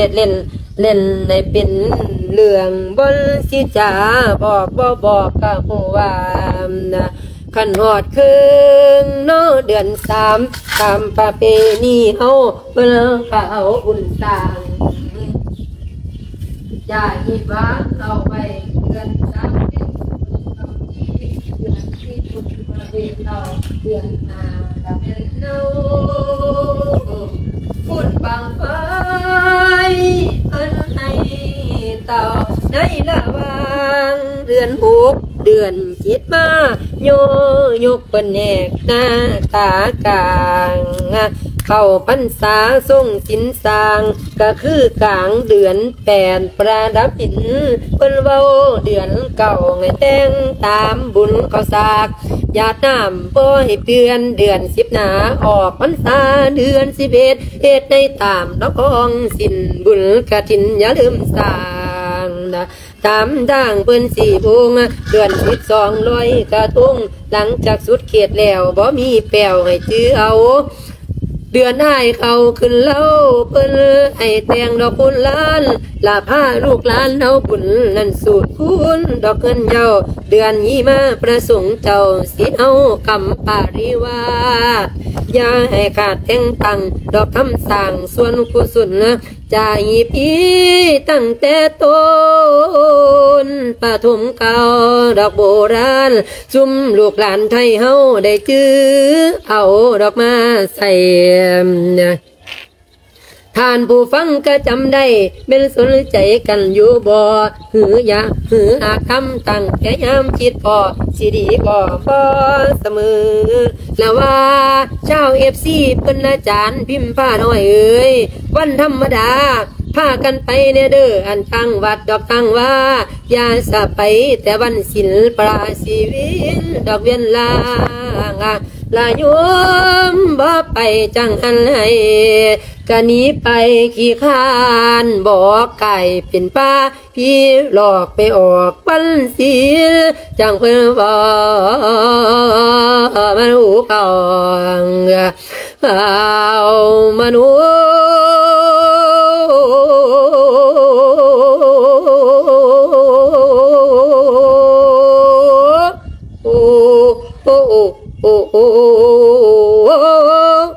ດເຫຼັ້ນ ເຫຼັ້ນໃຫ້ເປັນເລື່ອງ ບ່ອນຊິຈາບອກບໍ່ບອກກະຮູ້ວ່າ ຄັນຮອດເຄິ່ງເນາະເດືອນສາມ ຕາມປະເພນີເຮົາ ເພິ່ນກະເອົາບຸນສ້າງ ຢ່າຮີບວາງເອົາໄວ້ເດືອນສາມເປັນບຸນເຂົາທີ່ເດືອນສີ່ບຸນມາເວນເອົາເດືອນຫ້າລະແມ່ນເອົາບຸນບັ້ງໄຟເພິ່ນໃຫ້ເຕົ້າໃນລະຫວ່າງເດືອນຫົກເດືອນເຈັດມາ ໂຍ ຍົກເພິ່ນແຫກໜ້າຕາກາງ ເຂົ້າພັນສາຊົງສິນສ້າງ ກະຄືກາງເດືອນ ແປນປະດັບຫີນ ເພິ່ນເວົ້າເດືອນເກົ້າໃຫ້ແຕ່ງຕາມບຸນເຂົ້າສາກ ຢາດນ້ຳບໍ່ໃຫ້ເປື້ອນເດືອນສິບໜາ ອອກພັນສາເດືອນສິບເອັດ ເຮັດໃຫ້ຕາມລະຄອງສິ້ນ ບຸນກະຖິນຢ່າລືມສ້າງ ຕາມທາງເພິ່ນສີ່ອົງ ເດືອນສິບສອງລອຍກະທົງ ຫຼັງຈາກສຸດເຂດແລ້ວ ບໍ່ມີແປ້ວໃຫ້ຈື່ເອົາ ເດືອນອ້າຍເຂົ້າຂຶ້ນເລົາ ເພິ່ນໃຫ້ແຕ່ງດອກຄຸນລ້ານ ລະພາລູກຫຼານເຮົາບຸນນັ້ນສູດຄູນ ດອກເງິນເຍົາ ເດືອນຍີ່ມາປະສົງເຈົ້າ ສິເອົາກຳປະລິວາດ ຢ່າໃຫ້ຂາດແຕ່ງຕັ້ງ ດອກຄຳສ້າງສ່ວນກຸສົນ ຈາກຮີປີຕັ້ງແຕ່ຕົ້ນປະຖົມເກົ່າ ດອກໂບລານ ຊຸມລູກຫຼານໄທເຮົາໄດ້ຈື່ເອົາດອກມາໃສ່ ທ່ານຜູ້ຟັງກະຈຳໄດ້ ແມ່ນສົນໃຈກັນຢູ່ບໍ່? ຫຼືຢາກ ຫຼືອາກຳຕັ້ງແຕ່ຍາມຄິດພໍ້ ຊິດີບໍ່ພໍສະເໝີ ລະວ່າຊາວເອັຟຊີເພິ່ນອາຈານພິມພານ້ອຍເອີຍ ວັນທຳມະດາ ພາກັນໄປແດ່ເດີ ອັນທາງວັດດອກທາງວາ ຢ່າສະໄປແຕ່ວັນສິນ ປະສິວິນດອກວຽນລາ ລະໂຍມບໍ່ໄປຈັ່ງຫັ້ນໃຫ້ ກະໜີໄປຂີ້ຄ້ານ ບໍ່ກາຍເປັນປາ ຜີຫຼອກໄປອອກວັນສິນ ຈັ່ງເພິ່ນເວົ້າມາຮູ້ເຂົ້າ ເອົາມາໂນ ໂອ້ ໂອ້ ໂອ້ ໂອ້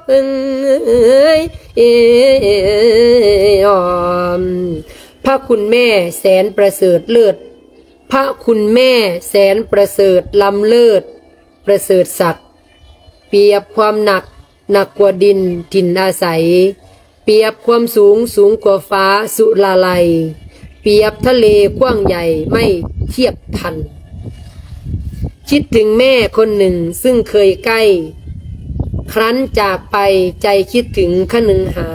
ເອີຍ ເອີຍ ອອມ ພະຄຸນແມ່ແສນປະເສີດເລີດ ພະຄຸນແມ່ແສນປະເສີດລ້ຳເລີດ ປະເສີດສັກ ປຽບຄວາມໜັກ ໜັກກວ່າດິນຖິ່ນອາໄສ ປຽບຄວາມສູງ ສູງກວ່າຟ້າສຸລາໄລ ປຽບທະເລກວ້າງໃຫຍ່ໄມ່ທຽບທັນ ຄິດເຖິງແມ່ຄົນໜຶ່ງຊຶ່ງເຄີຍໃກ້ ຄັ້ນຈາກໄປໃຈຄິດເຖິງຄະນຶງຫາ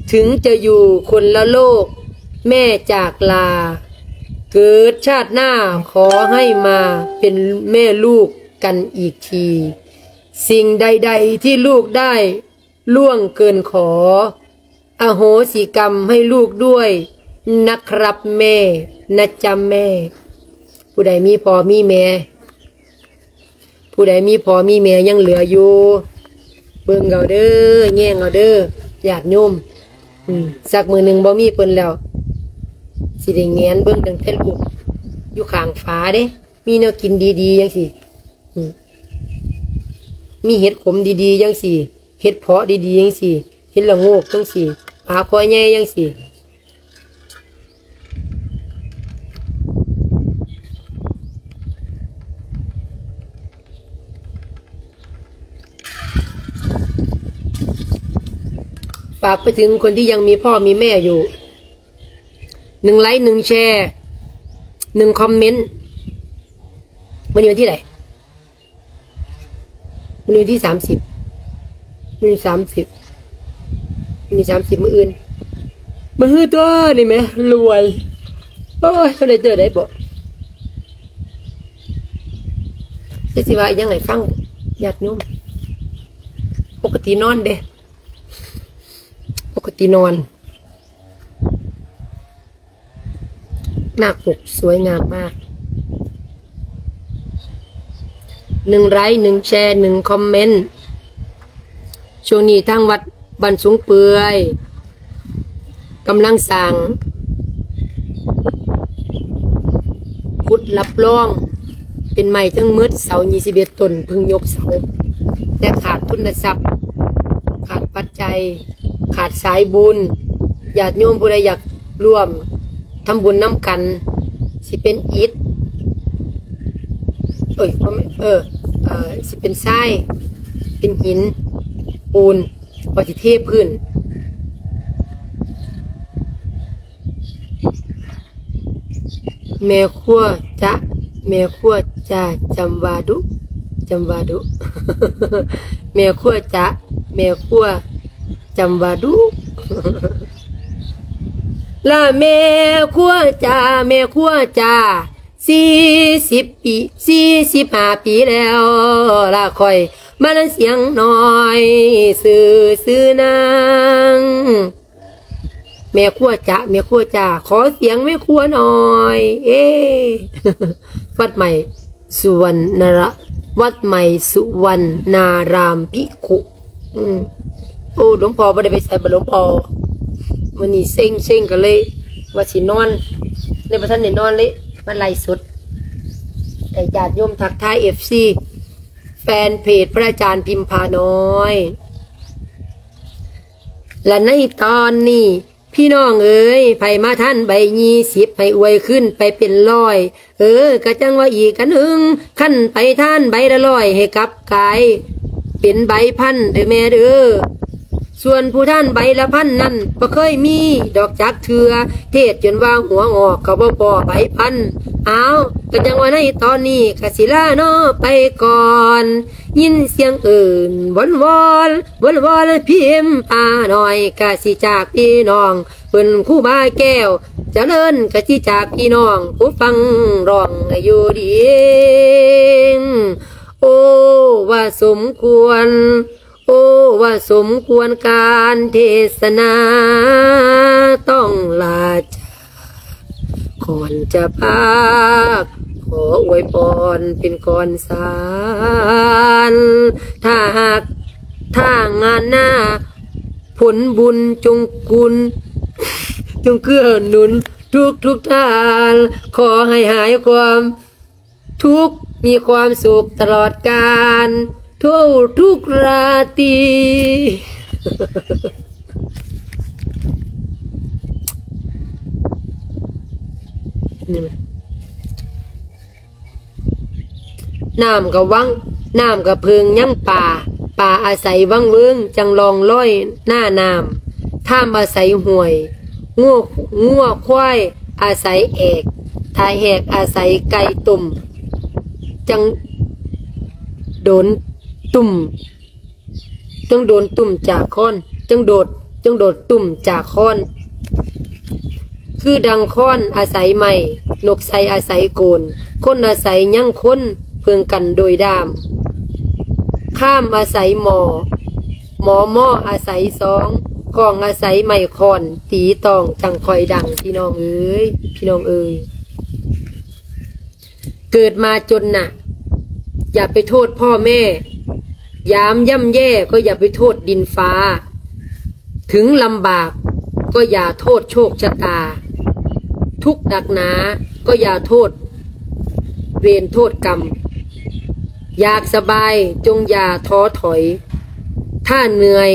ເຖິງຈະຢູ່ຄົນລະໂລກ ແມ່ຈາກລາ ເກີດຊາດໜ້າຂໍໃຫ້ມາເປັນແມ່ລູກກັນອີກທີ ສິ່ງໃດໆທີ່ລູກໄດ້ລ່ວງເກີນຂໍ ອະໂຫສິກຳໃຫ້ລູກດ້ວຍນະຄຣັບແມ່ ນະຈ໊ະແມ່ ຜູ້ໃດມີພໍ່ມີແມ່ ຜູ້ໃດມີພໍ່ມີແມ່ຍັງເຫຼືອຢູ່ ເບິ່ງເອົາເດີ ແຍງເອົາເດີ ຍາດໂຍມ ອືມ ສັກມື້ໜຶ່ງບໍ່ມີເພິ່ນແລ້ວ ຊິໄດ້ແຫງນເບິ່ງຕັ້ງແຕ່ລູກຢູ່ຂ້າງຝາເດ້ ມີແນວກິນດີໆຈັ່ງຊີ້ ອືມ ມີເຫັດຂົມດີໆຈັ່ງຊີ້ ເຫັດເຜາະດີໆຈັ່ງຊີ້ ເຫັດລະໂງກຈັ່ງຊີ້ ປາຄໍໃຫຍ່ຈັ່ງຊີ້ ຝາກໄປເຖິງຄົນທີ່ຍັງມີພໍ່ມີແມ່ຢູ່ ໜຶ່ງໄລຄ໌ ໜຶ່ງແຊ ໜຶ່ງຄອມເມັນ ມື້ນີ້ວັນທີໃດ? ມື້ນີ້ວັນທີສາມສິບ ມື້ນີ້ສາມສິບ ມື້ນີ້ສາມສິບ ມື້ອື່ນ ມື້ຮືຕົວະນີ້ແໝ່ ລວຍ ໂອ້ຍ ເຂົາໄດ້ເຈີໄດ້ບໍ່ ຈະຊິວ່າອີ່ຫຍັງໃຫ້ຟັງ ຍາດໂຍມ ປົກກະຕິນອນເດ້ ປົກກະຕິນອນ ໜ້າປົກສວຍງາມມາກ ໜຶ່ງໄລຄ໌ ໜຶ່ງແຊ ໜຶ່ງຄອມເມັນ ຊ່ວງນີ້ທາງວັດບ້ານສູງເປືອຍ ກຳລັງສ້າງ ຂຸດຮັບຮອງ ເປັນໄມ້ທັງໝົດເສົາ ຊາວເອັດຕົ້ນ ເພິ່ງຍົກເສົາ ແຕ່ຂາດທຶນຊັບ ຂາດປັດໄຈ ຂາດສາຍບຸນ ຍາດໂຍມຜູ້ໃດຢາກຮ່ວມ ທຳບຸນນຳກັນ ຊິເປັນອິດ ເອີຍ ບໍ່ແມ່ນ ເອີ ເອີ ຊິເປັນຊາຍ ເປັນຫີນ ປູນ ວ່າຊິເທພື້ນ. ແມ່ຄົວຈະ ແມ່ຄົວຈາ ຈຳວ່າດຸ ຈຳວ່າດຸ ແມ່ຄົວຈະ ແມ່ຄົວຈຳວ່າດຸ ລະແມ່ຄົວຈາ ແມ່ຄົວຈາ ສີ່ສິບປີ ສີ່ສິບຫ້າປີແລ້ວ ລະຂ້ອຍມານຳສຽງນ້ອຍ ຊື່ ຊື່ນາງ ແມ່ຄົວຈະ ແມ່ຄົວຈາ ຂໍສຽງແມ່ຄົວໜ້ອຍ ເອ ວັດໃໝ່ສຸວັນນາລະ ວັດໃໝ່ສຸວັນນາລາມພິກຂຸ ອືມ ໂອ້ ຫຼວງພໍ່ບໍ່ໄດ້ໄປໃສບໍ່ ຫຼວງພໍ່ ມື້ນີ້ເຊັງໆ ກໍເລີຍວ່າຊິນອນ ເລີຍບໍ່ທັນໄດ້ນອນເລີຍ ມາໄລຟ໌ສົດໃຫ້ຍາດໂຍມທັກທາຍ ເອັຟຊີ ແຟນເພຈພະອາຈານພິມພານ້ອຍ ແລະໃນຕອນນີ້ ພີ່ນ້ອງເອີຍ ໃຜມາທັນໃບຍີ່ສິບ ໃຫ້ອວຍຂຶ້ນໄປເປັນຮ້ອຍ ເອີ ກະຈັ່ງວ່າອີກອັນໜຶ່ງ ຄັນໄປທານໃບລະຮ້ອຍ ໃຫ້ກັບກາຍເປັນໃບພັນເດີແມ່ເດີ ສ່ວນຜູ້ທານໃບລະພັນນັ້ນ ບໍ່ເຄີຍມີດອກຈັກເທື່ອ ເທດຈົນວ່າຫົວງອກ ກໍບໍ່ພໍໃບພັນ ອ້າວ ກະຈັ່ງວ່າໃນຕອນນີ້ ກະຊິລາເນາະ ໄປກ່ອນ ຍິນສຽງເອີ້ນວອນໆ ວອນໆ ພິມພານ້ອຍກະຊິຈາກພີ່ນ້ອງ ເພິ່ນຄູບາແກ້ວຈະເລີນກະຊິຈາກພີ່ນ້ອງ ຜູ້ຟັງຮ້ອງໃຫ້ຢູ່ດີ ໂອ້ ວ່າສົມຄວນ ໂອ້ ວ່າສົມຄວນການເທດສະໜາ ຕ້ອງລາຈາ ກ່ອນຈະພາກ ຂໍອວຍພອນເປັນກ່ອນສານ ຖ້າຫາກທາງງານໜ້າ ຜົນບຸນຈົ່ງກຸນ ຈົ່ງເກື້ອໜູນທຸກໆທ່ານ ຂໍໃຫ້ຫາຍຄວາມ ທຸກ ມີຄວາມສຸກຕະຫຼອດການ ທົ່ວທຸກລາຕີ ນ້ຳກະວັງ ນ້ຳກະເພິ່ງຍັງປາ ປາອາໄສວັງເວີງ ຈັ່ງລ່ອງລອຍໜ້ານ້ຳ ທາມອາໄສຫ້ວຍ ງົວ ງົວຄວາຍອາໄສແອກ ຖ້າແຫກອາໄສໄກ່ຕົ້ມ ຈັ່ງໂດນຕຸ່ມ ຈັ່ງໂດນຕຸ່ມຈາກຄ້ອນ ຈັ່ງໂດດ ຈັ່ງໂດດຕຸ່ມຈາກຄ້ອນ ຄືດັ່ງຄ້ອນອາໄສໄມ້ ນົກໄຊອາໄສໂກນ ຄົນອາໄສຍັງຄົນ ເພິ່ງກັນໂດຍດ້າມ ຂ້າມອາໄສໝໍ້ ໝໍມ້ອອາໄສຊອງ ຂ້ອງອາໄສໄມ້ຄ້ອນ ຕີຕ້ອງຈັ່ງຄ່ອຍດັງ ພີ່ນ້ອງເອີຍ ພີ່ນ້ອງເອີຍ ເກີດມາຈົນນະ ຢ່າໄປໂທດພໍ່ແມ່ ຍາມຍ່ຳແຍ່ກໍຢ່າໄປໂທດດິນຟ້າ ເຖິງລຳບາກກໍຢ່າໂທດໂຊກຊະຕາ ທຸກໜັກໜາກໍຢ່າໂທດເວນໂທດກຳ ຢາກສະບາຍຈົ່ງຢ່າທໍຖອຍ ຖ້າເໜື່ອຍ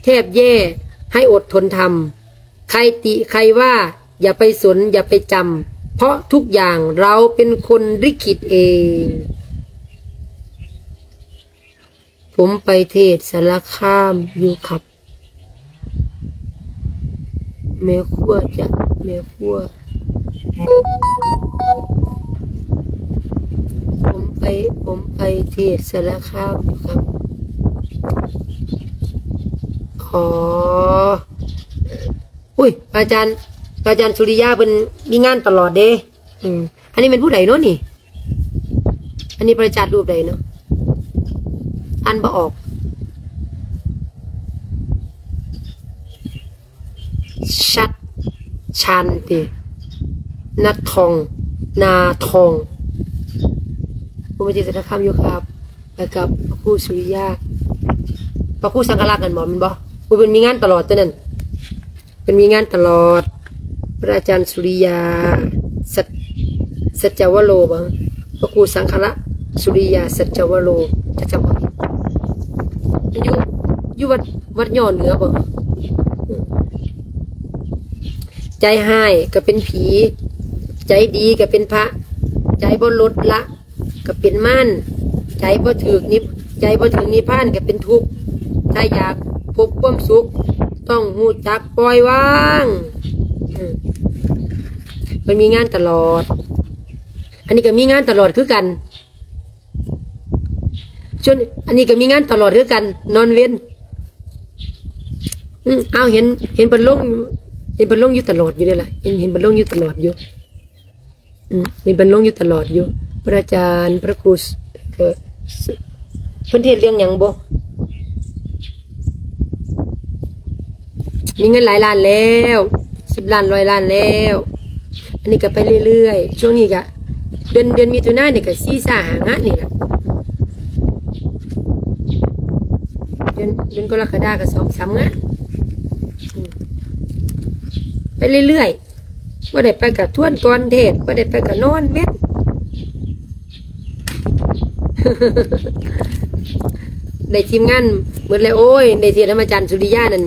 ແທບແຍ່ໃຫ້ອົດທົນທຳ ໃຄຕິໃຄວ່າ ຢ່າໄປສົນ ຢ່າໄປຈຳ ເພາະທຸກຢ່າງເຮົາເປັນຄົນລິຂິດເອງ ຜົມໄປເທດສາລະຄາມຢູ່ຄັບ ແມ່ຄົວຈະ ແມ່ຄົວ ຜົມໄປ ຜົມໄປເທດສາລະຄາມຢູ່ຄັບ ອໍ ອຸ້ຍ ພະອາຈານ ພະອາຈານສຸລິຍາເພິ່ນມີງານຕະຫຼອດເດ້ ອືມ ອັນນີ້ແມ່ນຜູ້ໃດເນາະນີ້? ອັນນີ້ພະອາຈານຮູບໃດເນາະ? ອ່ານບໍ່ອອກ. ຊັດ ຊານຕິ ນາທອງ ນາທອງ ຜູ້ມາຈາກສາລະຄາມຢູ່ຄັບ ແລ້ວກໍພະຄູສຸລິຍາ ພະຄູສັງຄະລັກນັ້ນບໍ່ ແມ່ນບໍ່? ຜູ້ເພິ່ນມີງານຕະຫຼອດຕົວນັ້ນ. ເພິ່ນມີງານຕະຫຼອດ ພະອາຈານສຸລິຍາ ສັດ ສັດຈະວະໂລບໍ? ພະຄູສັງຄະລະ ສຸລິຍາ ສັດຈະວະໂລ ຈະຈຳບໍ່ຜິດ ຢູ່ ຢູ່ວັດ ວັດຫຍໍ້ເໜືອບໍ? ໃຈຮ້າຍກໍເປັນຜີ, ໃຈດີກໍເປັນພະ, ໃຈບໍ່ລົດລະກໍເປັນມານ, ໃຈບໍ່ຖືກນິບ, ໃຈບໍ່ເຖິງນິບພານກໍເປັນທຸກ. ຖ້າຢາກພົບຄວາມສຸກ ຕ້ອງຮູ້ຈັກປ່ອຍວາງ. ອືມ ເພິ່ນມີງານຕະຫຼອດ. ອັນນີ້ກໍມີງານຕະຫຼອດຄືກັນ. ສ່ວນອັນນີ້ກໍມີງານຕະຫຼອດຄືກັນ, ນອນເວັນ. ອືມ ອ້າວ ເຫັນ ເຫັນເພິ່ນລົງ, ເຫັນເພິ່ນລົງຢູ່ຕະຫຼອດຢູ່ເດ້ລະ, ເຫັນ ເຫັນເພິ່ນລົງຢູ່ຕະຫຼອດຢູ່. ອືມ ເຫັນເພິ່ນລົງຢູ່ຕະຫຼອດຢູ່. ພະອາຈານ ພະຄູ ເອີ ເພິ່ນເທດເລື່ອງຫຍັງບໍ່? ມີເງິນຫຼາຍລ້ານແລ້ວ, ສິບລ້ານ, ຮ້ອຍລ້ານແລ້ວ. ອັນນີ້ກໍໄປເລື້ອຍໆ. ຊ່ວງນີ້ກໍເດືອນ, ເດືອນມິຖຸນານີ້ກໍສີ່ຫ້າງານນີ້ລະ. ເດືອນ, ເດືອນກໍລະກະດາກໍສອງສາມງານ. ອືມ ໄປເລື້ອຍໆ. ບໍ່ໄດ້ໄປກະທວນກ່ອນເທດ, ບໍ່ໄດ້ໄປກະນອນເວັນ. ໄດ້ທີມງານໝົດແລ້ວ. ໂອ້ຍ ໄດ້ເທດນຳອາຈານສຸລິຍານັ້ນ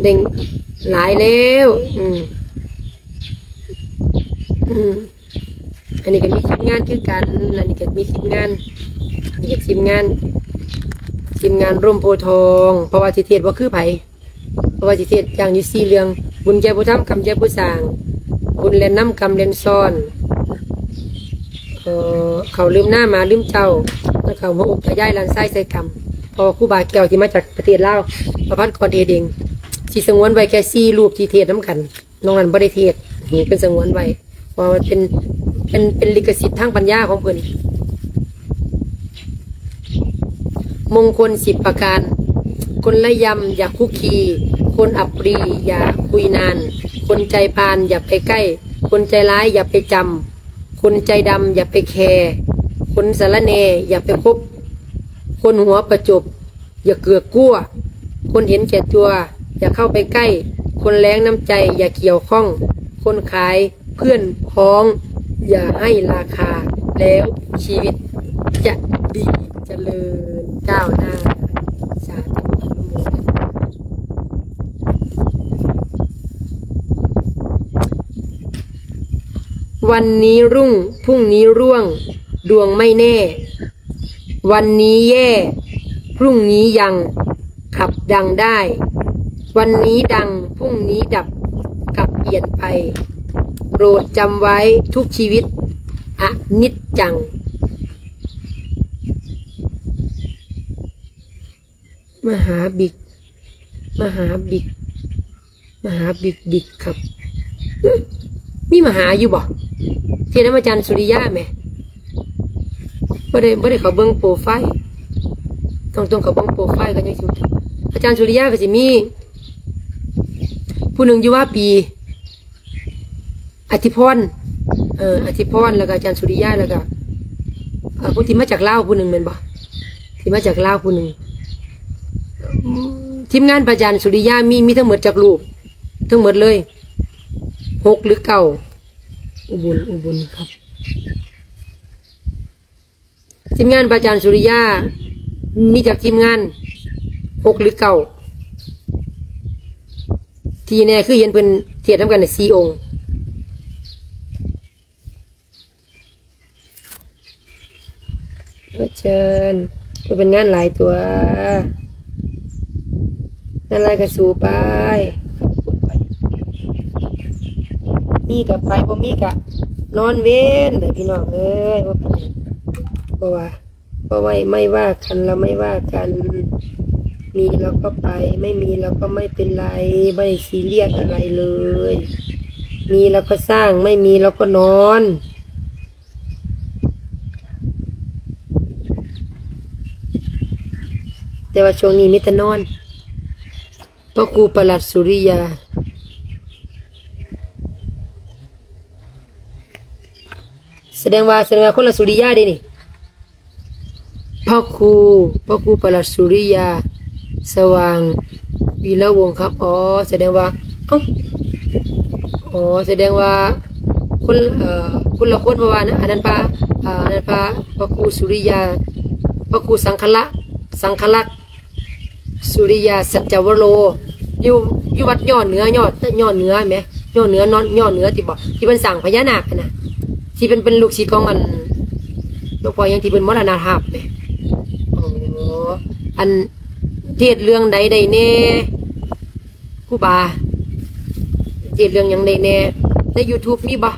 ໄດ້ຫຼາຍແລ້ວ. ອືມ ອືມ ອັນນີ້ກໍມີທີມງານຄືກັນ, ອັນນີ້ກໍມີທີມງານ, ອັນນີ້ກໍທີມງານ, ທີມງານຮົ່ມໂພທອງ. ເພາະວ່າຊິເທດບໍ່ຄືໃຜ. ເພາະວ່າຊິເທດຢ່າງຢູ່ສີ່ເລື່ອງ: ບຸນແກ່ຜູ້ທຳ, ກຳແກ່ຜູ້ສ້າງ, ບຸນແລ່ນນຳ, ກຳແລ່ນຊ້ອນ, ເອີ ເຂົ້າລືມໜ້າ, ໝາລືມເຈົ້າ, ແລ້ວກໍຫົວອົກຕາຍາຍ, ຫຼານຊາຍໃສ່ກຳ. ເພາະວ່າຄູບາແກ້ວທີ່ມາຈາກປະເທດລາວ, ປະພັນກອນເອເດັງ, ຊິສະຫງວນໄວ້ແຄ່ສີ່ຮູບທີ່ເທດນຳກັນ. ນອກນັ້ນບໍ່ໄດ້ເທດ, ເພິ່ນສະຫງວນໄວ້ ເພາະວ່າມັນເປັນ, ເປັນ, ເປັນລິຂະສິດທາງປັນຍາຂອງເພິ່ນ. ມົງຄົນສິບປະການ: ຄົນລະຢຳຢ່າຄຸກຄີ, ຄົນອັບປຣີຢ່າຄຸຍນານ, ຄົນໃຈພານຢ່າໄປໃກ້, ຄົນໃຈຮ້າຍຢ່າໄປຈຳ, ຄົນໃຈດຳຢ່າໄປແຄ, ຄົນສາລະແໜ່ຢ່າໄປຄົບ, ຄົນຫົວປະຈົບ ຢ່າເກືອກກົວ, ຄົນເຫັນແກ່ຕົວຢ່າເຂົ້າໄປໃກ້, ຄົນແລງນ້ຳໃຈຢ່າກ່ຽວຂ້ອງ, ຄົນຂາຍເພື່ອນພ້ອງຢ່າໃຫ້ລາຄາ, ແລ້ວຊີວິດຈະດີຈະເລີນກ້າວໜ້າ. ສາທຸ ອະນຸໂມທະນາ. ວັນນີ້ຮຸ່ງ ພຸ່ງນີ້ຮ່ວງ ດວງໄມ່ແນ່. ວັນນີ້ແຍ່ ພຮຸ່ງນີ້ຍັງ ຂັບດັງໄດ້. ວັນນີ້ດັງ ພຮຸ່ງນີ້ດັບ ກັບປ່ຽນໄປ. ໂປດຈຳໄວ້ທຸກຊີວິດ ອະນິດຈັງ. ມະຫາບິກ ມະຫາບິກ ມະຫາບິກ ບິກຄັບ. ຫຶ ມີມະຫາຢູ່ບໍ່? ເທດນຳອາຈານສຸລິຍາແໝ່. ບໍ່ໄດ້ ບໍ່ໄດ້ເຂົ້າເບິ່ງໂປຣໄຟລ໌. ຕ້ອງ ຕ້ອງເຂົ້າເບິ່ງໂປຣໄຟລ໌ກ່ອນຈັ່ງຊິຮູ້ຈັກ. ອາຈານສຸລິຍາກໍຊິມີຜູ້ໜຶ່ງຢູ່ວ່າປີ ອະທິພອນ ເອີ ອະທິພອນ ແລ້ວກໍອາຈານສຸລິຍາ ແລ້ວກໍ ເອີ ຜູ້ທີ່ມາຈາກລາວຜູ້ໜຶ່ງແມ່ນບໍ່? ທີ່ມາຈາກລາວຜູ້ໜຶ່ງ. ທີມງານພະອາຈານສຸລິຍາມີ ມີທັງໝົດຈັກຮູບ? ທັງໝົດເລີຍ ຫົກ ຫຼື ເກົ້າ? ອຸບົນ ອຸບົນຄັບ. ທີມງານພະອາຈານສຸລິຍາມີຈັກທີມງານ? ຫົກ ຫຼື ເກົ້າ? ທີ່ແນ່ຄືເຫັນເພິ່ນທຽບນຳກັນສີ່ອົງ. ເຊີນ ເພິ່ນເປັນງານຫຼາຍຕົວະ ງານຫຼາຍກະສູ້ໄປ ມີກະໄປ ບໍ່ມີກະນອນເວັນເດີພີ່ນ້ອງເອີຍ ບໍ່ເປັນຫຍັງ ບໍ່ວ່າ ບໍ່ໄວ້ ໄມ່ວ່າກັນ ເຮົາໄມ່ວ່າກັນ ມີເຮົາກໍໄປ ໄມ່ມີເຮົາກໍໄມ່ເປັນໄລ ບໍ່ໄດ້ຊີຣຽສອະໄລເລີຍ ມີເຮົາກໍສ້າງ ໄມ່ມີເຮົາກໍນອນ. ແຕ່ວ່າຊ່ວງນີ້ມີແຕ່ນອນ ພະຄູປະຫຼັດສຸລິຍາ ສະແດງວ່າ ສະແດງວ່າຄົນລະສຸລິຍາເດ້ນີ້ ພະຄູ ພະຄູປະຫຼັດສຸລິຍາ ສະຫວ່າງ ວີລະວົງຄັບ ອໍ ສະແດງວ່າ ເອົ້າ ອໍ ສະແດງວ່າ ຄົນ ເອີ ຄົນລະຄົນ ເພາະວ່າ ອັນນັ້ນພະ ເອີ ອັນນັ້ນພະ ພະຄູສຸລິຍາ ພະຄູສັງຄະລະ ສັງຄະລັກ ສຸລິຍາສັດຈະວະໂລ ຢູ່ ຢູ່ວັດຍໍ້ເໜືອ ຍໍ້ ຍໍ້ເໜືອແໝ່ ຍ້ອນເໜືອເນາະ ຍ້ອນເໜືອຕິບໍ ທີ່ເພິ່ນສ້າງພະຍານາກຫັ້ນນະ ທີ່ເພິ່ນເປັນລູກສິດຂອງອັນ ຫຼວງພໍ່ຫຍັງທີ່ເພິ່ນມໍລະນະພາບແໝ ອໍ ອັນເທດເລື່ອງໃດໄດ້ແດ່ ຄູບາ ເທດເລື່ອງຫຍັງໄດ້ແດ່ ໃນຢູທູບມີບໍ່?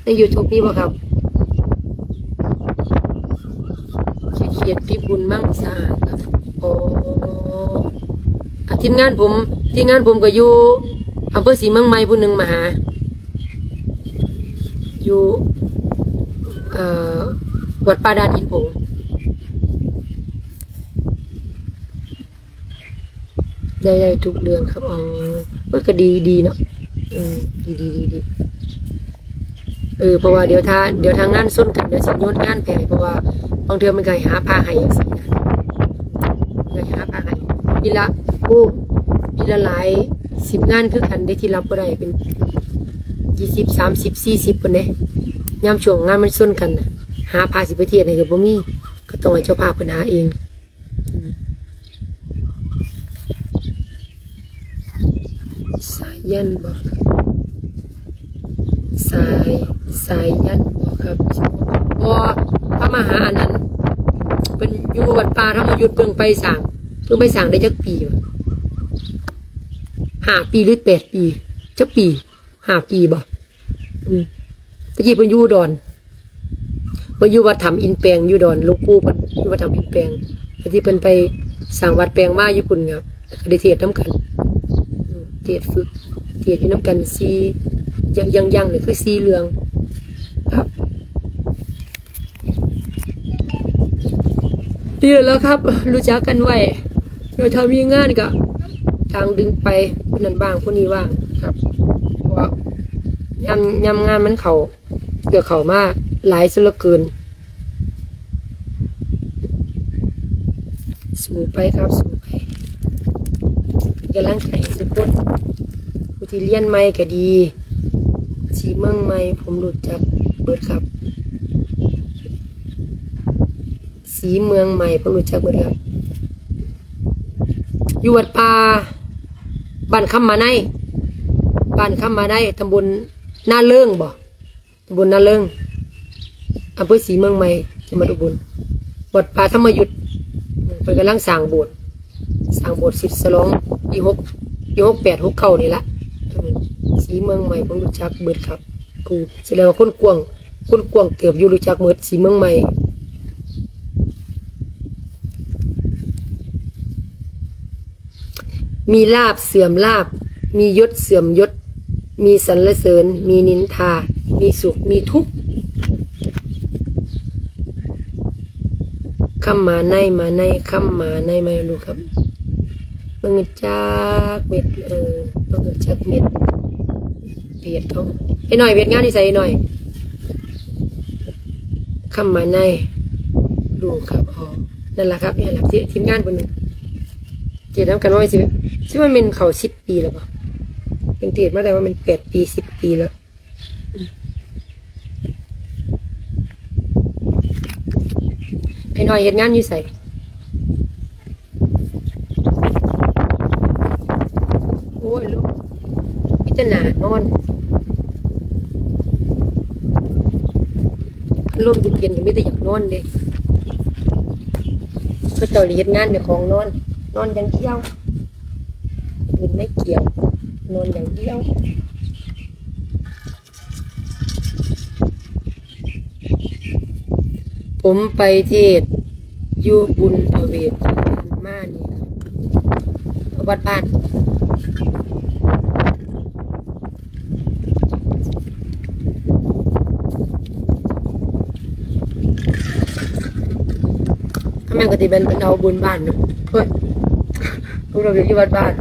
ໃນຢູທູບມີບໍ່ຄັບ? ເຂດພິບູນມັງສາ ອໍ ອ່າ ທີມງານຜົມ ທີມງານຜົມກໍຢູ່ອຳເພີສີເມືອງໃໝ່ ຜູ້ໜຶ່ງມາຫາ ຢູ່ ເອີ ວັດປ່າດານຫີນໂພງ. ໄດ້ ໄດ້ທຸກເລື່ອງຄັບ ອໍ ເອີ ກໍດີ ດີເນາະ ເອີ ດີໆ ເອີ ເພາະວ່າດຽວຖ້າ ດຽວຖ້າງານຊົນກັນ ດຽວຊິໂຍນງານໄປໃຫ້ ເພາະວ່າບາງເທື່ອມັນກໍໃຫ້ຫາຜ້າໃຫ້ຈັ່ງຊີ້ນະ ໃຫ້ຫາຜ້າໃຫ້ ປີລະ ໂອ້ ປີລະຫຼາຍສິບງານຄືກັນເດ້ ທີ່ຮັບບໍ່ໄດ້ ເປັນຊາວ ສາມສິບ ສີ່ສິບພຸ້ນເດ້ ຍາມຊ່ວງງານມັນຊົນກັນນະ ຫາຜ້າຊິໄປທຽດໃຫ້ກໍບໍ່ມີ ກໍຕ້ອງໃຫ້ເຈົ້າພາບເພິ່ນຫາເອງ. ສາຍັນບໍ່? ສາຍ ສາຍັນບໍ່ຄັບ? ບໍ່ ພະມະຫາອັນນັ້ນ ເພິ່ນຢູ່ວັດປ່າທຳມະຍຸດ ເພິ່ງໄປສ້າງ ເພິ່ງໄປສ້າງໄດ້ຈັກປີວະ? ຫ້າປີ ຫຼື ແປດປີ? ຈັກປີ? ຫ້າປີບໍ່? ອືມ ແຕ່ກີ້ເພິ່ນຢູ່ອຸດອນ ເພິ່ນຢູ່ວັດຖ້ຳອິນແປງ ຢູ່ດອນ ຫຼວງປູ່ເພິ່ນຢູ່ວັດຖ້ຳອິນແປງ ແຕ່ທີ່ເພິ່ນໄປສ້າງວັດແປງມາຢູ່ພຸ້ນ ກໍໄດ້ເທດນຳກັນ ເທດຝຶກ ເທດຢູ່ນຳກັນສີ່ ຢ່າງ ຢ່າງ ຢ່າງນີ້ຄືສີ່ເລື່ອງຄັບ. ດີແລ້ວຄັບ ຮູ້ຈັກກັນໄວ້ ດຽວຖ້າມີງານກະທາງດຶງໄປ ຜູ້ນັ້ນວ່າງຜູ້ນີ້ວ່າງຄັບ ເພາະວ່າຍາມ ຍາມງານມັນເຂົ້າ ກໍເຂົ້າມາຫຼາຍເສຍເຫຼືອເກີນ. ສູ້ໄປຄັບ ສູ້ໄປ ເປັນກຳລັງໃຈໃຫ້ທຸກຄົນ ຜູ້ທີ່ຮຽນໃໝ່ກໍດີ ສີເມືອງໃໝ່ ຜົມຮູ້ຈັກເບິດຄັບ ສີເມືອງໃໝ່ ຜົມຮູ້ຈັກເບິດຄັບ ຢູ່ວັດປ່າ ບ້ານຄຳມາໄນ ບ້ານຄຳມາໄນ ຕຳບົນນາເລີງບໍ? ຕຳບົນນາເລີງ ອຳເພີສີເມືອງໃໝ່ ຈັງຫວັດອຸບົນ ວັດປ່າທຳມະຍຸດ ເພິ່ນກຳລັງສ້າງໂບດ ສ້າງໂບດສິບສະຫຼອງປີຫົກ ປີຫົກແປດ ຫົກເກົ້ານີ້ລະ ເອີ ສີເມືອງໃໝ່ ເພິ່ນຮູ້ຈັກເບິດຄັບ ຜູ້ ສະແດງວ່າຄົນກວ້າງ ຄົນກວ້າງເຕີບຢູ່ ຮູ້ຈັກເໝິດ ສີເມືອງໃໝ່. ມີລາບເສື່ອມລາບ ມີຍົດເສື່ອມຍົດ ມີສັນລະເສີນ ມີນິນທາ ມີສຸກ ມີທຸກ ຄຳມາໄນ ມາໄນ ຄຳມາໄນ ມາລູກຄັບ ບໍ່ຮູ້ຈັກເມັດ ເອີ ບໍ່ຮູ້ຈັກເມັດ ເວຍດເຂົາ ໄອ້ນ້ອຍ ເວຍດງານຢູ່ໃສ ໄອ້ນ້ອຍ? ຄຳມາໄນ ລູກຄັບ ອໍ ນັ້ນລະຄັບ ນີ້ລະ ທີມງານເພິ່ນ ເທດນຳກັນມາ ຊິ ຊິວ່າແມ່ນເຂົ້າສິບປີແລ້ວບໍ? ເພິ່ນເທດມາໄດ້ວ່າແມ່ນແປດປີ ສິບປີແລ້ວ. ໄອ້ນ້ອຍເຮັດງານຢູ່ໃສ? ໂອ້ຍ ລົມ ມີແຕ່ໜ້ານອນ ລົມເຢັນໆ ກໍມີແຕ່ຢາກນອນເດ້. ເຂົາເຈົ້ານີ້ເຮັດງານ ເຈົ້າຂອງນອນ ນອນຢ່າງດຽວ ເປັນໄມ້ກ່ຽວ ນອນຢ່າງດຽວ. ຜົມໄປເທດຢູ່ບຸນພະເວດມານີ້ ວັດບ້ານ ຄັນແມ່ນກໍຊິແມ່ນເອົາບຸນບ້ານເນາະ ເອີຍ ບຸນພະເວດຢູ່ວັດບ້ານ.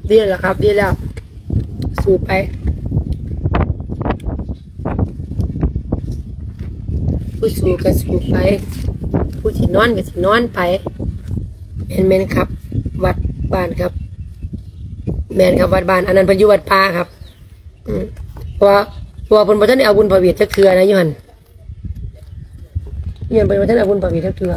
ດີແລ້ວຄັບ ດີແລ້ວ ສູ້ໄປ ຜູ້ສູ້ກໍສູ້ໄປ ຜູ້ຊິນອນກໍຊິນອນໄປ. ແມ່ນໆ ຄັບ ວັດບ້ານຄັບ ແມ່ນຄັບ ວັດບ້ານ ອັນນັ້ນເພິ່ນຢູ່ວັດປ່າຄັບ ອືມ ເພາະວ່າ ເພາະວ່າເພິ່ນບໍ່ທັນໄດ້ເອົາບຸນພະເວດຈັກເທື່ອນະ ຢູ່ຫັ້ນ ຍ້ອນເພິ່ນບໍ່ທັນເອົາບຸນພະເວດຈັກເທື່ອ.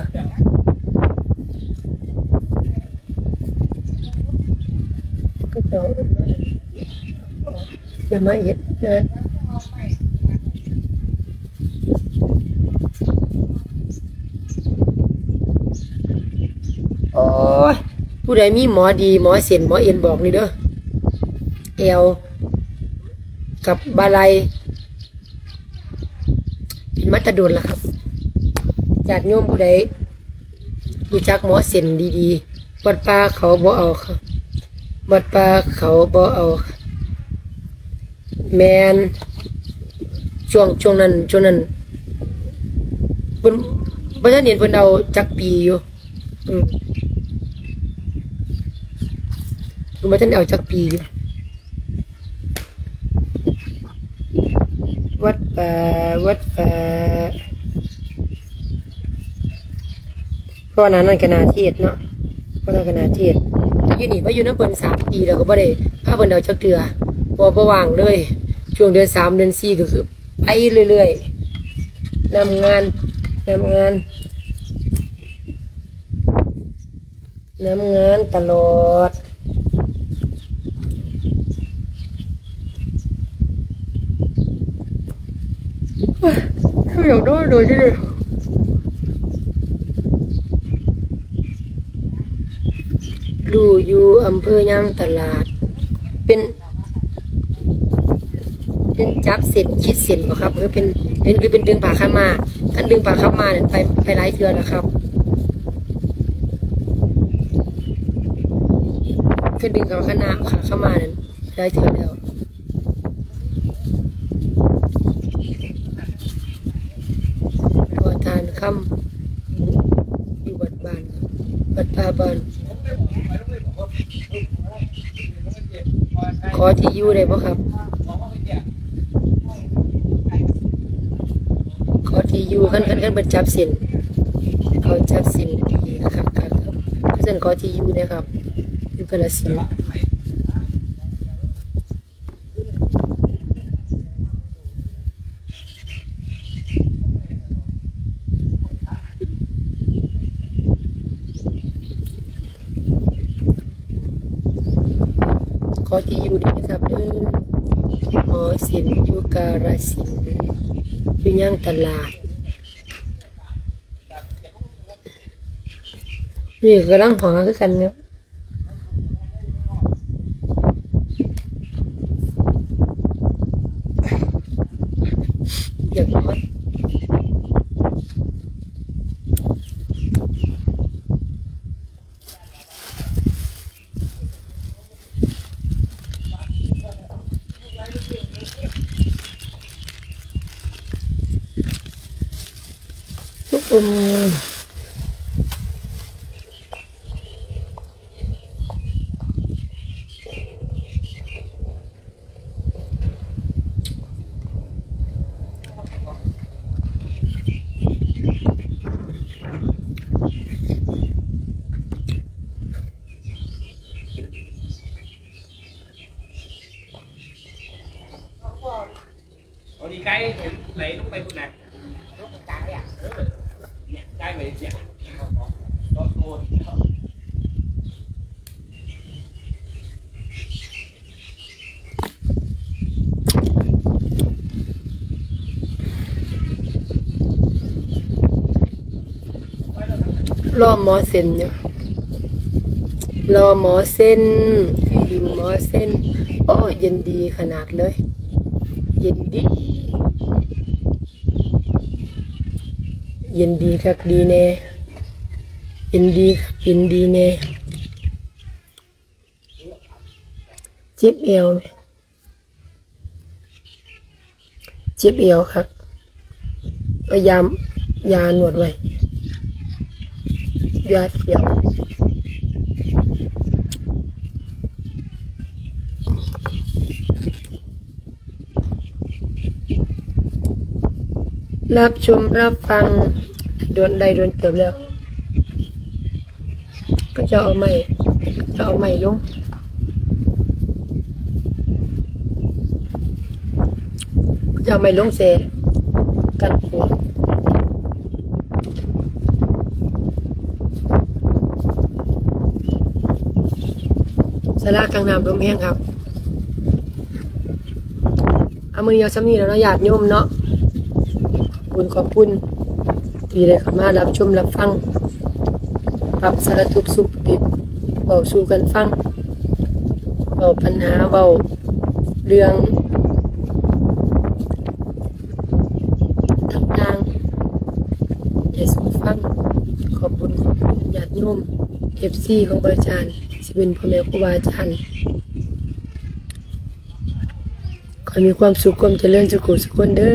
ຈະມາເຮັດເດີ. ໂອ້ຍ ຜູ້ໃດມີໝໍດີ ໝໍເສັ້ນ ໝໍເອັນ ບອກນີ້ເດີ. ແອວກັບບ່າໄຫຼ່ ເປັນມາແຕ່ດົນລະຄັບ. ຍາດໂຍມຜູ້ໃດ ຮູ້ຈັກໝໍເສັ້ນດີໆ ວັດປ່າເຂົາບໍ່ເອົາ ວັດປ່າເຂົາບໍ່ເອົາ. ແມ່ນ ຊ່ວງ ຊ່ວງນັ້ນ ຊ່ວງນັ້ນ ເພິ່ນ ບໍ່ທັນເຫັນເພິ່ນເອົາຈັກປີຢູ່. ອືມ ເພິ່ນບໍ່ທັນເອົາຈັກປີຢູ່. ວັດປ່າ ວັດປ່າ ເພາະວ່າໜ້ານັ້ນກໍໜ້າເທດເນາະ ເພາະນັ້ນກໍໜ້າເທດ. ຢູ່ນີ້ມາຢູ່ນຳເພິ່ນສາມປີແລ້ວ ກໍບໍ່ໄດ້ພາເພິ່ນເອົາຈັກເທື່ອ ເພາະວ່າບໍ່ວ່າງເລີຍ. ຊ່ວງເດືອນສາມ ເດືອນສີ່ ກໍຄືໄປເລື້ອຍໆ ນຳງານ ນຳງານ. ນຳງານຕະຫຼອດ. ໂອ້ຍ ຢາກນອນໂດຍເດ. ຢູ່ ຢູ່ອຳເພີຍາງຕະຫຼາດ ເປັນ ເປັນຈັບເສັ້ນ ຂີດເສັ້ນບໍ່ຄັບ ຫຼືເປັນ ເປັນ ຫຼືເປັນດຶງຜ້າຂາວມ້າ? ຄັນດຶງຜ້າຂາວມ້ານັ້ນ ໄປ ໄປຫຼາຍເທື່ອແລ້ວຄັບ. ຄືດຶງເຂົ້າຄະນະ ຂາວມ້ານັ້ນ ຫຼາຍເທື່ອແລ້ວ. ພໍ່ທ່ານຄຳ ຢູ່ວັດບ້ານ ວັດປ່າບ້ານ. ຂໍທີ່ຢູ່ໄດ້ບໍ່ຄັບ? ຂໍທີ່ຢູ່ ຄັນ ຄັນ ຄັນເພິ່ນຈັບເສັ້ນ ເຂົາຈັບເສັ້ນດີຄັກໆ ຄັບ. ຄັນຊັ້ນຂໍທີ່ຢູ່ແດ່ຄັບ ຢູ່ກາລະສິນ. ຂໍທີ່ຢູ່ເດີຄັບເດີ. ອໍ ເສັ້ນຢູ່ກາລະສິນ ຢູ່ຍາງຕະຫຼາດ. ນີ້ກໍກຳລັງຫາຄືກັນເນາະ. ຢາກນອນ. ເອົານີ້ໄກ່ໄຫຼລົງໄປພຸ້ນນະ ໄກ່ໄປເສຍ ລໍໝໍເສັ້ນຢູ່ ລໍໝໍເສັ້ນ ຢູ່ໝໍເສັ້ນ. ໂອ້ ເຢັນດີຂະໜາດເລີຍ ເຢັນດີ ເຢັນດີຄັກດີແນ່ ເຢັນດີຄັກເຢັນດີແນ່. ເຈັບແອວ ເຈັບແອວຄັກ ເອົາຢາ ຢານວດໄວ້ ຢາ ຢາ. ຮັບຊົມຮັບຟັງ ໂດນ ໄດ້ໂດນເຕີບແລ້ວ. ເຂົາເຈົ້າເອົາໄມ້ ເຂົາເຈົ້າເອົາໄມ້ລົງ ເຂົາເຈົ້າເອົາໄມ້ລົງໃສ່ກັນ. ສາລາກາງນ້ຳລົມແຮງຄັກ. ເອົາ ມື້ນີ້ເອົາສ່ຳນີ້ແຫຼະເນາະ ຍາດໂຍມເນາະ. ຂອບຄຸນ ຂອບຄຸນທີ່ໄດ້ເຂົ້າມາຮັບຊົມຮັບຟັງ ປັບສາລະທຸກສຸກດິບ ເວົ້າສູ່ກັນຟັງ ເວົ້າບັນຫາ ເວົ້າເລື່ອງຕ່າງໆ ໃຫ້ສູ່ຟັງ. ຂອບຄຸນ ຂອບຄຸນຍາດໂຍມ ເອັຟຊີ ຂອງພະອາຈານ ທີ່ເປັນພໍ່ແມ່ຄູບາອາຈານ. ຂໍໃຫ້ມີຄວາມສຸກຄວາມຈະເລີນສຸຂູສຸຄົນເດີ.